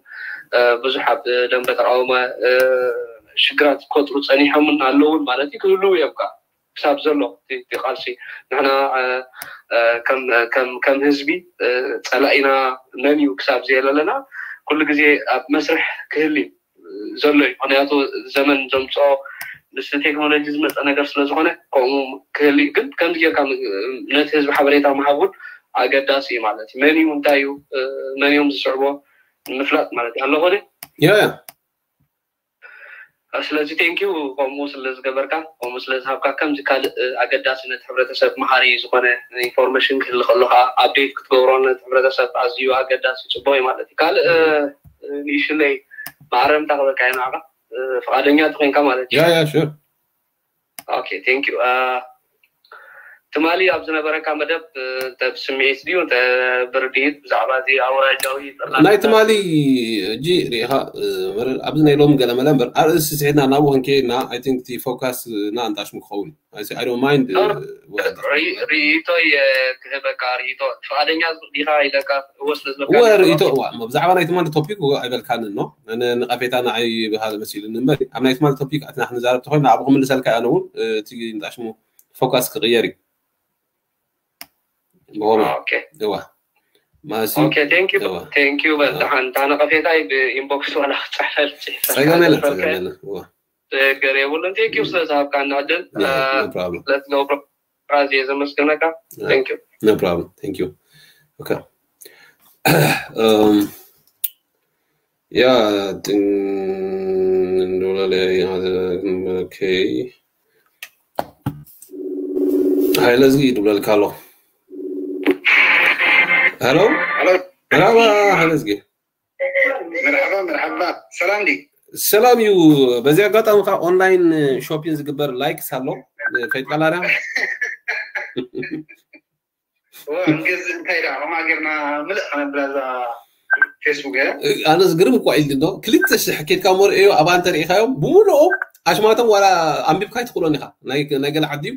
ብዙሕ ኣብ ደንበ ተቃውሞ ሽግራት ክፈጥሩ ፀኒሖምን ኣለውን ማለት እዩ ክህልው እዮም ከዓ ክሳብ ዘሎ እቲ ቃልሲ ንሕና ከም ህዝቢ ፀላኢና መን እዩ ክሳብ ዘየለለና ኩሉ ግዜ ኣብ መስርሕ ክህል እዩ ዘሎ እዩ ምክንያቱ ዘመን ዘምፅኦ ምስ ቴክኖሎጂ ዝመፀ ነገር ስለዝኮነ ከምኡ ክህል እዩ ግን ከምዚ ጌርካ ነቲ ህዝቢ ሓበሬታ ምሃብ እውን ኣገዳሲ እዩ ማለት እዩ መን እዩ እንታይ እዩ መን እዮም ዝስዕቦ ንምፍላጥ ማለት እዩ ኣለኮነ ያ ያ ስለዚ ቴንኪዩ ከምኡ ስለ ዝገበርካ፣ ከምኡ ስለ ዝሃብካ። ከምዚ ካልእ ኣገዳሲ ነቲ ሕብረተሰብ መሃሪ ዝኾነ ኢንፎርሜሽን ክህሊ ከሎ ከዓ ኣፕዴት ክትገብሮ ነቲ ሕብረተሰብ ኣዝዩ ኣገዳሲ ጽቡቅ እዩ ማለት እዩ። ካልእ ንእሽለይ ማዕረምታ ክበካ እዩ ንዓኻ፣ ፍቓደኛ ተኮይንካ ማለት እዩ። ያ ያ ሹር ኦኬ ቴንክ ዩ። ትማሊ ኣብ ዝነበረካ መደብ እንተ ብስምዒት ድዩ እንተ ብርድኢት ብዛዕባ እዚ ኣውራጃዊ ጥርናፈ ናይ ትማሊ እጂ ሪኢኻ ኣብዚ ናይ ሎም ገለመለ እምበር ኣርእስቲ ስሒትና ናብኡ ክንከይድና ኣይ ቲንክ እቲ ፎካስ ና እንጣሽሙ ክኸውን I don't mind ርኢቶይ ክህበካ ርኢቶ ፍቓደኛ ዲኻ ኢለካ እወ ስለ ዝበልካ እወ ርኢቶ እዋ ብዛዕባ ናይ ትማሊ ቶፒክ እወ ኣይበልካንን ኖ ነቀፌታ ንዓይ ብሃለ መሲሉኒ እምበር ኣብ ናይ ትማሊ ቶፒክ ኣትና ክንዛረብ ተኮይና ኣብኡ ክምልሰልካ እያ ነውን እቲ እንጣሽሙ ፎካስ ክቕየር እዩ ብሆማ ኦኬ እዋ ማሲ ኦኬ ቴንክ ዩ እዋ ቴንክ ዩ በል ደሓን እታ ነቐፌታይ ብኢንቦክስ ዋላ ክፅሕፈል ጸገም የለን ጸገም የለን እዋ ችግር የብሉን ቴንክ ዩ ስለ ዝሃብካና ዕድል no problem let's go ራዚ ዘመስግነካ ቴንክ ዩ no problem thank you okay um yeah እንዶላለ okay ሃይለ ዝጊ ይድብለልካ ኣሎ hello ሄሎ መርሃባ ሃይለ ዝጊ መርሓባ መርሓባ ሰላም ዲ ሰላም እዩ በዚ ኣጋጣሚ ከዓ ኦንላይን ሾፒን ዝግበር ላይክስ ኣሎ ፈይጥቃላዳ እንታይ ዳ ከማ ጌርና ምልእ ከነብላ እዛ ፌስቡክ እያ ኣነ ዝግርም እኳ ኢል ዶ ክልተ ሽሕ ኬድካ መርአዮ ኣብኣ እንተሪኢኻዮም ብምልኦም ኣሽማቶም ዋላ ኣንቢብካ ኣይትኽእሎን ኢኻ ናይ ናይ ገለ ዓዲ እዩ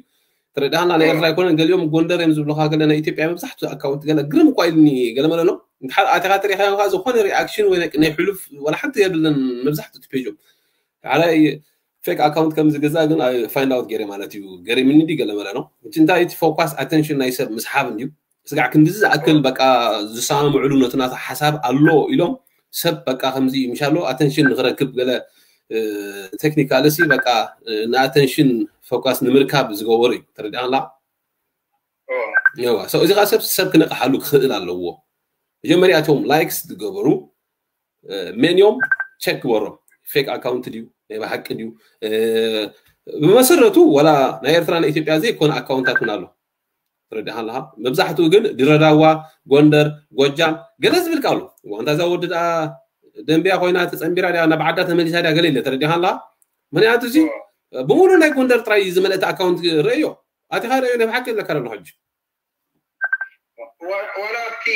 ተረዳሃና ናይ ኤርትራ ኣይኮነን ገሊኦም ጎንደር እዮም ዝብሉካ ገለ ናይ ኢትዮጵያ መብዛሕትኡ ኣካውንት ገለ ግርም እኳ ኢልኒ ገለ መለ ነው እንድሓር ኣቲኻ ተሪኢኻዮም ከዓ ዝኾነ ሪኣክሽን ወይ ናይ- ናይ ሕሉፍ ዋላ ሓንቲ የብለን መብዛሕትኡ እቲ ፔጆም ሓደ ፌክ ኣካውንት ከም ዝገዛ ግን ፋይንድ ኣውት ገይረ ማለት እዩ ገሪምኒ እንዲ ገለ መለ ነው እቲ እንታይ እቲ ፎካስ ኣቴንሽን ናይ ሰብ ምስሓብ እንድዩ ስጋዕ ክንድዚ ዝኣክል በቃ ዝሰማምዕሉ ነቲ ናቱ ሓሳብ ኣሎ ኢሎም ሰብ በቃ ከምዚ ምሻሎ ኣተንሽን ንክረክብ ገለ ቴክኒካል ሲ በቃ ንኣተንሽን ፎካስ ንምርካብ ዝገበሩ እዩ ተረዲኣላ ኦ፣ ዋ እዚ ከዓ ሰብ ሰብ ክነቅሓሉ ክኽእል ኣለዎ መጀመሪያ እቶም ላይክስ ዝገበሩ ሜንዮም ቸክ ግበሮም ፌክ ኣካውንት ድዩ ናይ ብሓቂ ድዩ ብመሰረቱ ወላ ናይ ኤርትራ ናይ ኢትዮጵያ ዘይኮነ ኣካውንታት እውን ኣሎ ትረዳእ ኣለካ መብዛሕትኡ ግን ድረዳዋ ጎንደር ጎጃም ገለ ዝብል ቃሉ ዋንታ እዛ ወዲ ደኣ ደንቢያ ኮይና ተፀንቢራ ድያ ናብ ዓዳ ተመሊሳ ድያ ገለ ኢለ ተረዲኻ ኣለካ ምክንያቱ እዚ ብምሉ ናይ ጎንደር ጥራይ ዝመለእቲ ኣካውንት ርእዮ ኣቲኻ ርእዮ ናይ ብሓቂ ኣለካ ደሎ ሕጂ ዋላ ኣብቲ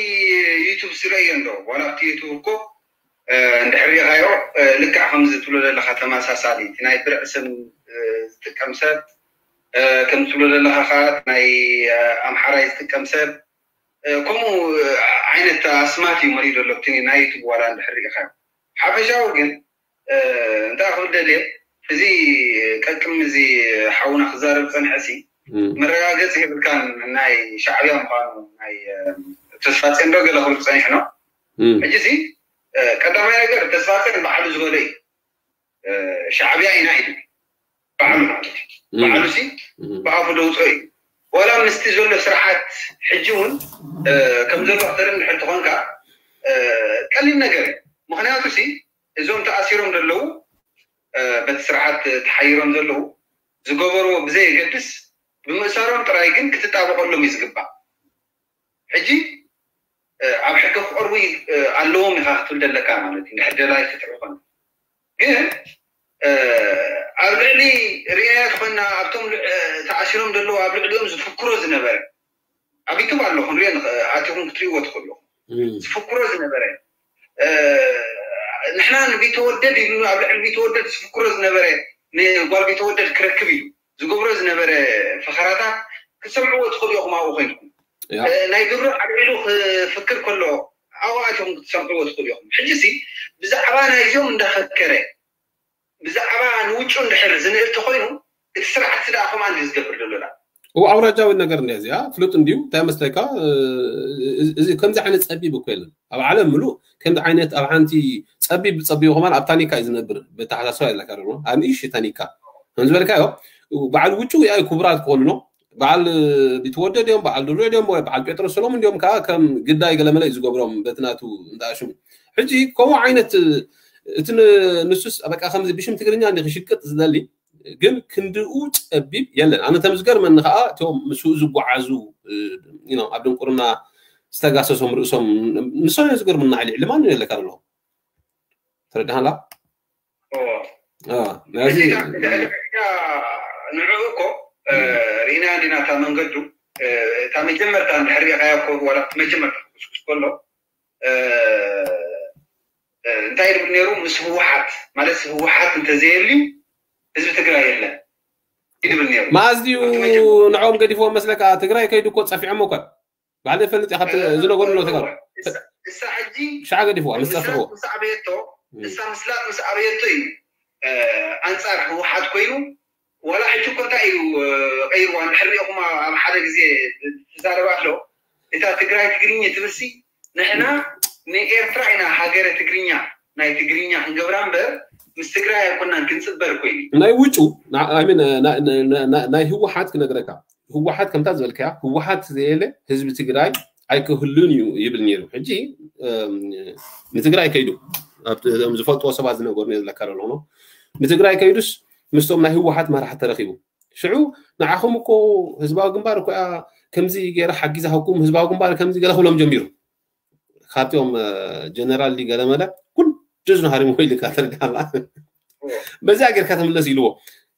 ዩቱብ ስረዮ እንዶ ዋላ ኣብቲ ዩቱብ እኮ እንድሕር ሪኢኻዮ ልክዕ ከምዚ ትብሎ ዘለካ ተመሳሳሊ እቲ ናይ ብርዕ ስም ዝጥቀም ሰብ ከም ትብሎ ዘለካ ከዓ ናይ ኣምሓራይ ዝጥቀም ሰብ ከምኡ ዓይነት ኣስማት እዩ መሪኡ ዘሎ እቲ ናይ ዩቱብ ዋላ እንድሕር ሪኢኻዮ ሓፈሻዊ ግን እንታይ ክብል ደልየ እዚ ቀቅም እዚ ሓውና ክዛረብ ፀንሐ ሲ መረጋገፂ የብልካን ናይ ሻዕብያ ምኳኑ ናይ ተስፋፅን ዶ ገለ ክብል ፀኒሑ ነው ሕጂ ሲ ቀዳማይ ነገር ተስፋፅን ባዕሉ ዝበሎ እዩ ሻዕብያ ኢና ኢሉ ባዕሉ ማለት እዩ ባዕሉ ሲ ብኣፉ ደውፅኦ እዩ ዋላ ምስቲ ዘሎ ስርዓት ሕጂ እውን ከም ዘሎ ክተርኢ እንድሕር ትኾንካ ቀሊል ነገር እዩ ምክንያቱ ሲ እዞም ተኣሲሮም ዘለዉ በቲ ስርዓት ተሓይሮም ዘለዉ ዝገበርዎ ብዘየገድስ ብምእሳሮም ጥራይ ግን ክትጣበቀሎም እዩ ዝግባእ ሕጂ ኣብ ሕጊ ክቀርቡ ኣለዎም ኢካ ክትብል ደለካ ማለት እዩ ድሕር ደላይ ክትዕ ይኮነ ግን ኣብ ልዕሊ ርኢናዮ ትኮና ኣብቶም ተኣሲሮም ዘለዉ ኣብ ልዕሊኦም ዝፍክሮ ዝነበረ ኣብ ዩቱብ ኣሎ ክንሪኦ ኣቲኹም ክትሪእዎ ትኽእሉ ዝፍክሮ ዝነበረ ንሕና ንቢተወደድ ኢሉ ኣብ ልዕሊ ቢተወደድ ዝፍክሮ ዝነበረ ንጓል ቢተወደድ ክረክብ ኢሉ ዝገብሮ ዝነበረ ፈኸራታት ክትሰምዕዎ ትኽእሉ ኢኹም ኣብኡ ኮይንኩም ናይ ድሮ ኣልዒሉ ክፍክር ከሎ ኣብኡ ኣቲኹም ክትሰምዕዎ ትኽእሉ ኢኹም ሕጂ ሲ ብዛዕባ ናይዚኦም እንዳፈከረ ብዛዕባ ንውጩ እንድሕር ዝንእል ተኮይኑ እቲ ስርዓት ስዳ ከምኣ እንዲ ዝገብር ዘሎ ዳ እው ኣውራጃዊ ነገር እንዲያ እዚኣ ፍሉጥ እንዲዩ እንታይ መስለካ እዚ ከምዚ ዓይነት ፀቢብ እኮ የለን ኣብ ዓለም ምሉእ ከምዚ ዓይነት ኣብ ሓንቲ ፀቢብ ፀቢቡ ከማን ኣብ ታኒካ እዩ ዝነብር በተሓሳስባ የለካ ዶ ኣብ ንእሽ ታኒካ ከም ዝበልካዮ በዓል ውጭ ያ ክቡራት ክኾኑ ነው በዓል ቢትወደድ እዮም በዓል ድሮ እዮም ወይ በዓል ጴጥሮስ ሰሎሙን እንዲዮም ከዓ ከም ግዳይ ገለመለ እዩ ዝገብሮም በቲ ናቱ እንዳሽሙ ሕጂ ከምኡ ዓይነት እቲ ንሱስ በቃ ከምዚ ብሽም ትግርኛ ክሽቅጥ ዝደሊ ግን ክንድኡ ጸቢብ የለን። ኣነ ተምዝገርመኒ ከዓ እቶም ምስኡ ዝጓዓዙ ኣብ ድንቁርና ዝተጋሰሶም ርእሶም ንሶም እዮም ዝገርምና። ልዕሊ ማን የለካ ኣለኹ ተረድሃላ። ንዕኡ እኮ ርኢና እንዲና እታ መንገዱ እታ መጀመርታ እንድሕር ሪኢኻያ እኮ ዋላ መጀመርታ ክስኩስ ከሎ እንታይ ይብል ነይሩ? ምስ ህወሓት ማለት ህወሓት እንተዘየልዩ ህዝቢ ትግራይ የለን ይብል ነይሩ። መኣዝ ድዩ ንዕኦም ገዲፍዎም መስለካ? ትግራይ ከይዱ እኮ ፀፊዖም እኮ ባዕለ ፈልጥ ኢኻ ዝነገሩ ኣሎ ተጋሩ እሳ ሕጂ ሻዕ ገዲፍዋ ምስ ፀፍዕዎ ምስ ኣበየቶ እሳ ምስላጥ ምስ ኣበየቶ እዩ ኣንፃር ህወሓት ኮይኑ ዋላ ሕጂ እኮ እንታይ እዩ ቀይርዋ እንድሕር ሪኢኹም ኣብ ሓደ ግዜ ትዛረብ ኣሎ እታ ትግራይ ትግርኛ ትብልሲ ንሕና ንኤርትራ ኢና ሃገረ ትግርኛ ናይ ትግርኛ ክንገብራ እምበር ምስ ትግራይ ኣይኮናን ክንፅበር ኮይኑ ናይ ውጩ ናይ ህወሓት ክነግረካ ህወሓት ከምታ ዝበልካያ ህወሓት ዘየለ ህዝቢ ትግራይ ኣይክህሉን እዩ ይብል ነይሩ። ሕጂ ንትግራይ ከይዱ ዝፈልጥዎ ሰባት ዝነገሩ ዘለካ ኣለኹ ንትግራይ ከይዱስ ምስቶም ናይ ህወሓት መራሕቲ ተረኪቡ ሽዑ ንዓኹም እኮ ህዝባዊ ግንባር እኮ ከምዚ ገይረ ሓጊዛኩም ህዝባዊ ግንባር ከምዚ ገለ ክብሎም ጀሚሩ ካብቲኦም ጀነራል ገለመለ ኩሉ ጅዝኑ ሃሪሙ ኢልካ ተርዳላ በዚኣ ጌርካ ተምለስ ኢልዎ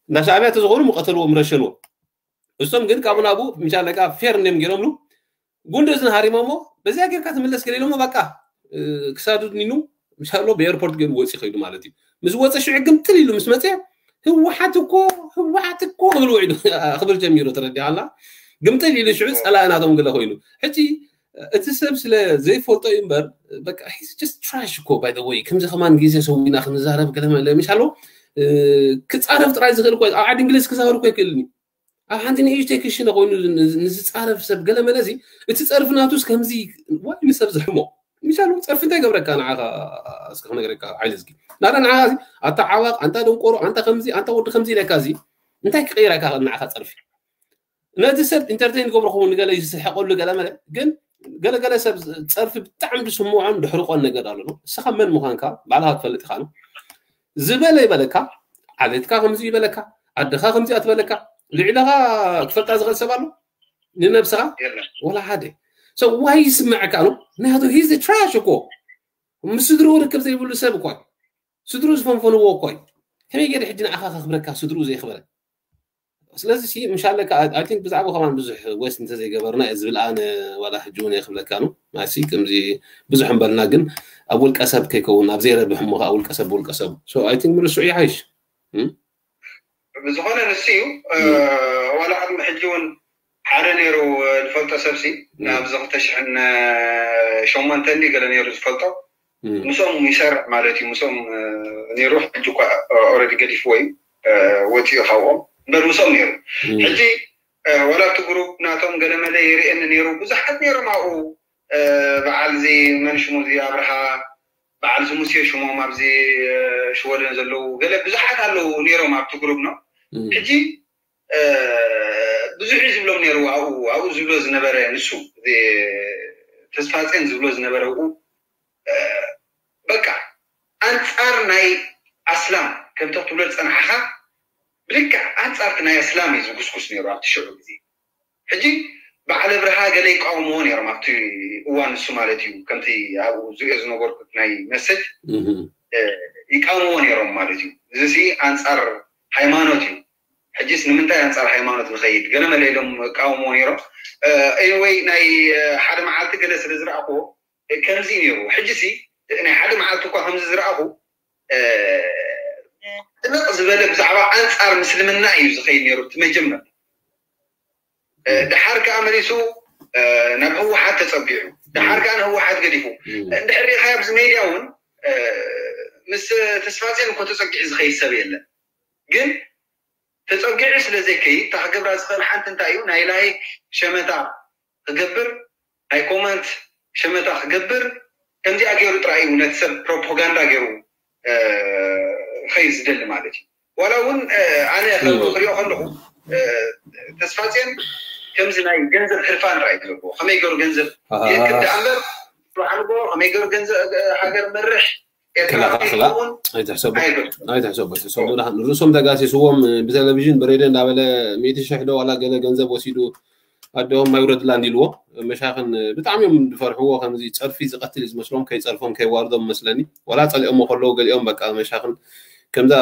እንዳ ሻዕብያ ተዝኾኑ ምቀተልዎም ረሸንዎ እሶም ግን ካብኡ ናብኡ ምሻለካ ፌር እንዲም ገይሮምሉ ጉንዲ እዝን ሃሪሞሞ በዚኣ ጌርካ ትምለስ ገለ ኢሎሞ በቃ ክሳዱ ድኒኑ ምሻሎ ብኤርፖርት ገይሩ ወፂ ከይዱ ማለት እዩ ምስ ወፀ ሽዑ ግምጥል ኢሉ ምስ መፀ ህወሓት እኮ ህወሓት እኮ ክብል ውዒዱ ክብል ጀሚሩ ተረዲዓላ ግምጥል ኢሉ ሽዑ ፀላኢ ናቶም ገለ ኮይኑ ሕጂ እቲ ሰብ ስለ ዘይፈልጦ እዩ እምበር በቃ trash እኮ by the way ከምዚ ከማን ግዜ ሰዊና ክንዛረብ ገለ መለ ምሻሎ ክፃረፍ ጥራይ ዝኽእል እኮ ኣብ ዓዲ እንግሊዝ ክዛረብ እኮ ይክእልኒ ኣብ ሓንቲ ንእሽተይ ክሽነ ኮይኑ ንዝፃረፍ ሰብ ገለ መለ እዚ እቲ ፀርፊ ናቱስ ከምዚ ዋይ ንሰብ ዝሕሞ ምሻሉ ፀርፊ እንታይ ገብረካ ንዓኻ እስከ ክነግረካ ሓይሊ ዝጊ ናዳ ንዓኻ እዚ ኣታ ዓዋቕ ኣንታ ደንቆሮ ኣንታ ከምዚ ኣንታ ወዲ ከምዚ ኢለካ እዚ እንታይ ክቀይረካ ንዓኻ ፀርፊ ነቲ ሰብ ኢንተርቴን ገብሮ ክኸውን ንገለ ዝስሕቀሉ ገለ መለ ግን ገለገለ ሰብ ፀርፊ ብጣዕሚ ዝስምዖን ድሕርቆን ነገር ኣሎ ንስኻ መን ምዃንካ ባዕልኻ ትፈልጥ ኢኻ ዝበለ ይበለካ ዓሌትካ ከምዚ ይበለካ ዓድኻ ከምዚ ኣትበለካ ልዕለኻ ክፈልጣ ዝኽእል ሰብ ኣሎ ንነብስኻ ወላ ሓደ so why ይስምዐካ ነው ምክንያቱ he's trash እኮ ምስ ስድርኡ ርክብ ዘይብሉ ሰብ እኳ ስድርኡ ዝፈንፈንዎ እኳ እዩ ከመይ ገይረ ሕጂ ንዓኻ ከኽብረካ ስድርኡ ዘየኽበረ ስለዚ ምሻለካ I think ብዛዕባ ከማን ብዙሕ ወስ እንተዘይገበርና እየ ዝብል ኣነ ዋላ ሕጂ እውን የክብለካ ነው ማሲ ከምዚ ብዙሕ እንበልና ግን ኣብ ውልቀ ሰብ ከይከውን ኣብ ዘይረብሕ እሞ ከዓ ውልቀ ሰብ ውልቀ ሰብ so I think ምርሱዕ ይሓይሽ ብዝኾነ ንሱ እዩ ዋላ ቅድሚ ሕጂ እውን ሓደ ነይሩ ዝፈልጦ ሰብሲ ኣብዚ ክልተ ሽሕን ሸሞንተን ገለ ነይሩ ዝፈልጦ ምስኦም ይሰርሕ ማለት እዩ ምስኦም ነይሩ ሕጂ እኳ already ገዲፍዎ እዩ ወፂኡ ካብኦም እምበር ምስኦም ነይሩ ሕጂ ዋላ እቲ ግሩፕ ናቶም ገለመለ ይርእየኒ ነይሩ ብዙሓት ነይሮም ኣብኡ በዓል እዚ መን ሽሙ እዚ ኣብርሃ በዓል እዚ ሙሴ ሽሞም ኣብዚ ሽወደን ዘለዉ ገለ ብዙሓት ኣለዉ ነይሮም ኣብቲ ግሩፕ ነው ሕጂ ብዙሕ እዩ ዝብሎም ነይሩ ኣብኡ ኣብኡ ዝብሎ ዝነበረ ንሱ ተስፋፅን ዝብሎ ዝነበረ ኣብኡ በቃ ኣንፃር ናይ ኣስላም ከምቲ ክትብሎ ዝፀናሕኻ ብልክዕ ኣንፃርቲ ናይ ኣስላም እዩ ዝጉስጉስ ነይሩ ኣብቲ ሽዑ ግዜ ሕጂ በዓል ኣብርሃ ገለ ይቃወምዎ ነይሮም ኣብቲ እዋን ንሱ ማለት እዩ ከምቲ ኣብኡ ዝሪኦ ዝነበርኩት ናይ መሰጅ ይቃወምዎ ነይሮም ማለት እዩ እዚ ኣንፃር ሃይማኖት እዩ ሕጂስ ንምንታይ ኣንፃር ሃይማኖት ንኸይድ ገለ መለ ኢሎም ይቃወምዎ ነይሮም anyway ናይ ሓደ መዓልቲ ገለ ስለ ዝረኣኽዎ ከምዚ ነይሩ ሕጂ ሲ ናይ ሓደ መዓልቲ እኳ ከምዚ ዝረኣኹ ጥልቕ ዝበለ ብዛዕባ ኣንፃር ምስልምና እዩ ዝኸይድ ነይሩ እቲ መጀመር ድሓር ከዓ መሊሱ ናብ ህወሓት ተፀጊዑ ድሓር ከዓ ንህወሓት ገዲፉ እንድሕር ሪኢኻ ኣብዚ ሜድያ እውን ምስ ተስፋፅዮን እኮ ተፀጊዑ ዝኸይድ ሰብ የለን ግን ተፀጊዑ ስለ ዘይከይድ እታ ክገብራ ዝኽእል ሓንቲ እንታይ እዩ ናይ ላይክ ሸመታ ክገብር ናይ ኮመንት ሸመታ ክገብር ከምዚኣ ገይሩ ጥራይ እዩ ነቲ ሰብ ፕሮፓጋንዳ ገይሩ ኸይ ዝደሊ ማለት እዩ ዋላ እውን ኣነ ክሪኦ ከለኹ ተስፋፅዮን ከምዚ ናይ ገንዘብ ሕርፋን ጥራይ እዩ ዘለዎ ከመይ ገይሩ ገንዘብ የክብ ደኣ እምበር ባዕልጎ ከመይ ገይሩ ገንዘብ ሃገር መርሕ ኤርትራዊ ከላኻኽላ ከይኸውን ኣይትሕሰቡ። ኣይበል። ኣይትሕሰቡ ኣይትሕሰቡ። ደሓን ርእሶም ተጋሲስዎም ብቴሌቪዥን ብሬድዮ እንዳበለ ሚእቲ ሽሕ ዶ ዋላ ገለ ገንዘብ ወሲዱ ኣደኦም ማይውረድላ እንዲልዎ። መሻኽን ብጣዕሚ እዮም ዝፈርሕዎ። ከምዚ ጸርፊ ዝቐትል እዩ ዝመስሎም። ከይጸርፎም ከይዋርዶም መስለኒ። ዋላ ጸሊኦሞ ከለዉ ገሊኦም በቃ መሻኽን ከምዛ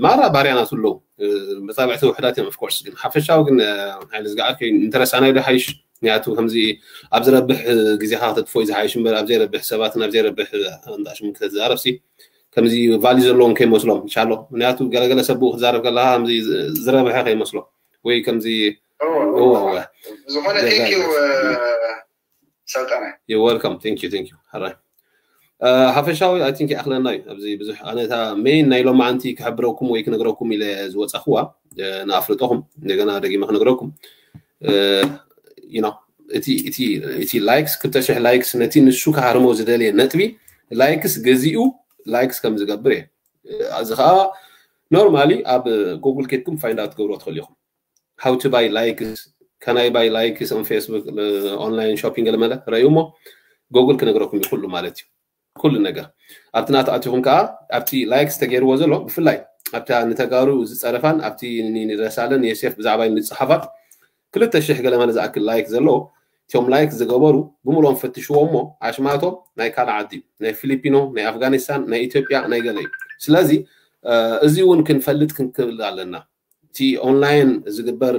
ማራ ባርያ ናቱ ኣለዉ። መጻብዕቲ ውሕዳት እዮም። Of course ግን ሓፈሻዊ ግን ሓይሊ ዝገዓር ከይ እንተረሳናዮ ዶ ሓይሽ? ምክንያቱ ከምዚ ኣብ ዝረብሕ ግዜኻ ከተጥፍኦ እዩ ዝሓይሽ እምበር ኣብ ዘይረብሕ ሰባትን ኣብ ዘይረብሕ ኣንጣሽም ክትዛረብ ሲ ከምዚ ቫሊ ዘለዎም ከይመስሎም። ኢንሻሎ ምክንያቱ ገለገለ ሰብ ብኡ ክትዛረብ ከለካ ከምዚ ዝረብሐ ከይመስሎ ወይ ከምዚ ዝኾነ ሰልጣነ welcome thank you thank you ሕራይ ሓፈሻዊ ኣይ ቲንክ ይኣኽለና እዩ። ኣብዚ ብዙሕ ኣነታ ሜን ናይ ሎማዓንቲ ክሕብረኩም ወይ ክነግረኩም ኢለ ዝወፃኽዋ ንኣፍልጠኹም እንደገና ደጊመ ክነግረኩም እቲ ላይክስ ክልተ ሽሕ ላይክስ ነቲ ንሱ ክሃርሞ ዝደልየ ነጥቢ ላይክስ ገዚኡ ላይክስ ከም ዝገብር እየ። እዚ ከዓ ኖርማሊ ኣብ ጉግል ኬድኩም ፋይንድ ኣውት ትገብሮ ትኽእሉ ኢኹም። How to buy likes, can I buy likes on Facebook, online shopping ገለመለ ረእዩ እሞ ጉግል ክነግረኩም እዩ ኩሉ ማለት እዩ። ኩሉ ነገር ኣብቲ ናቱ ኣቲኹም ከዓ ኣብቲ ላይክስ ተገይርዎ ዘሎ ብፍላይ ኣብታ ንተጋሩ ዝፀረፋን ኣብቲ ንረሳለን የሴፍ ብዛዕባ ንፅሓፋት ክልተ ሽሕ ገለመለ ዝኣክል ላይክ ዘለዎ እቲኦም ላይክ ዝገበሩ ብምሎም ፈትሽዎ እሞ ኣሽማቶም ናይ ካልእ ዓዲ ናይ ፊሊፒኖ ናይ ኣፍጋኒስታን ናይ ኢትዮጵያ ናይ ገለ እዩ። ስለዚ እዚ እውን ክንፈልጥ ክንክእል ኣለና። እቲ ኦንላይን ዝግበር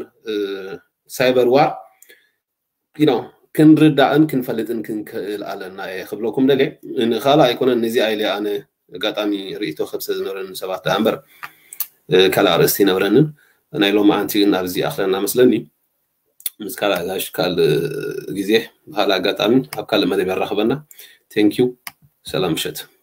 ሳይበር ዋር ክንርዳእን ክንፈልጥን ክንክእል ኣለና እየ ክብለኩም ደልየ። ንካልእ ኣይኮነን ነዚኣ ኢለ ኣነ ኣጋጣሚ ርእይቶ ከብሰ ዝነበረኒ ሰባት ደኣ እምበር ካልእ ኣርእስቲ ይነብረንን ናይ ሎማዓንቲ ግን ኣብዚ ኣኽለና መስለኒ። ምስ ካልእ ኣጋሽ ካልእ ግዜ ብካልእ ኣጋጣሚ ኣብ ካልእ መደብ የራኽበና። ቴንኪዩ። ሰላም ምሸት።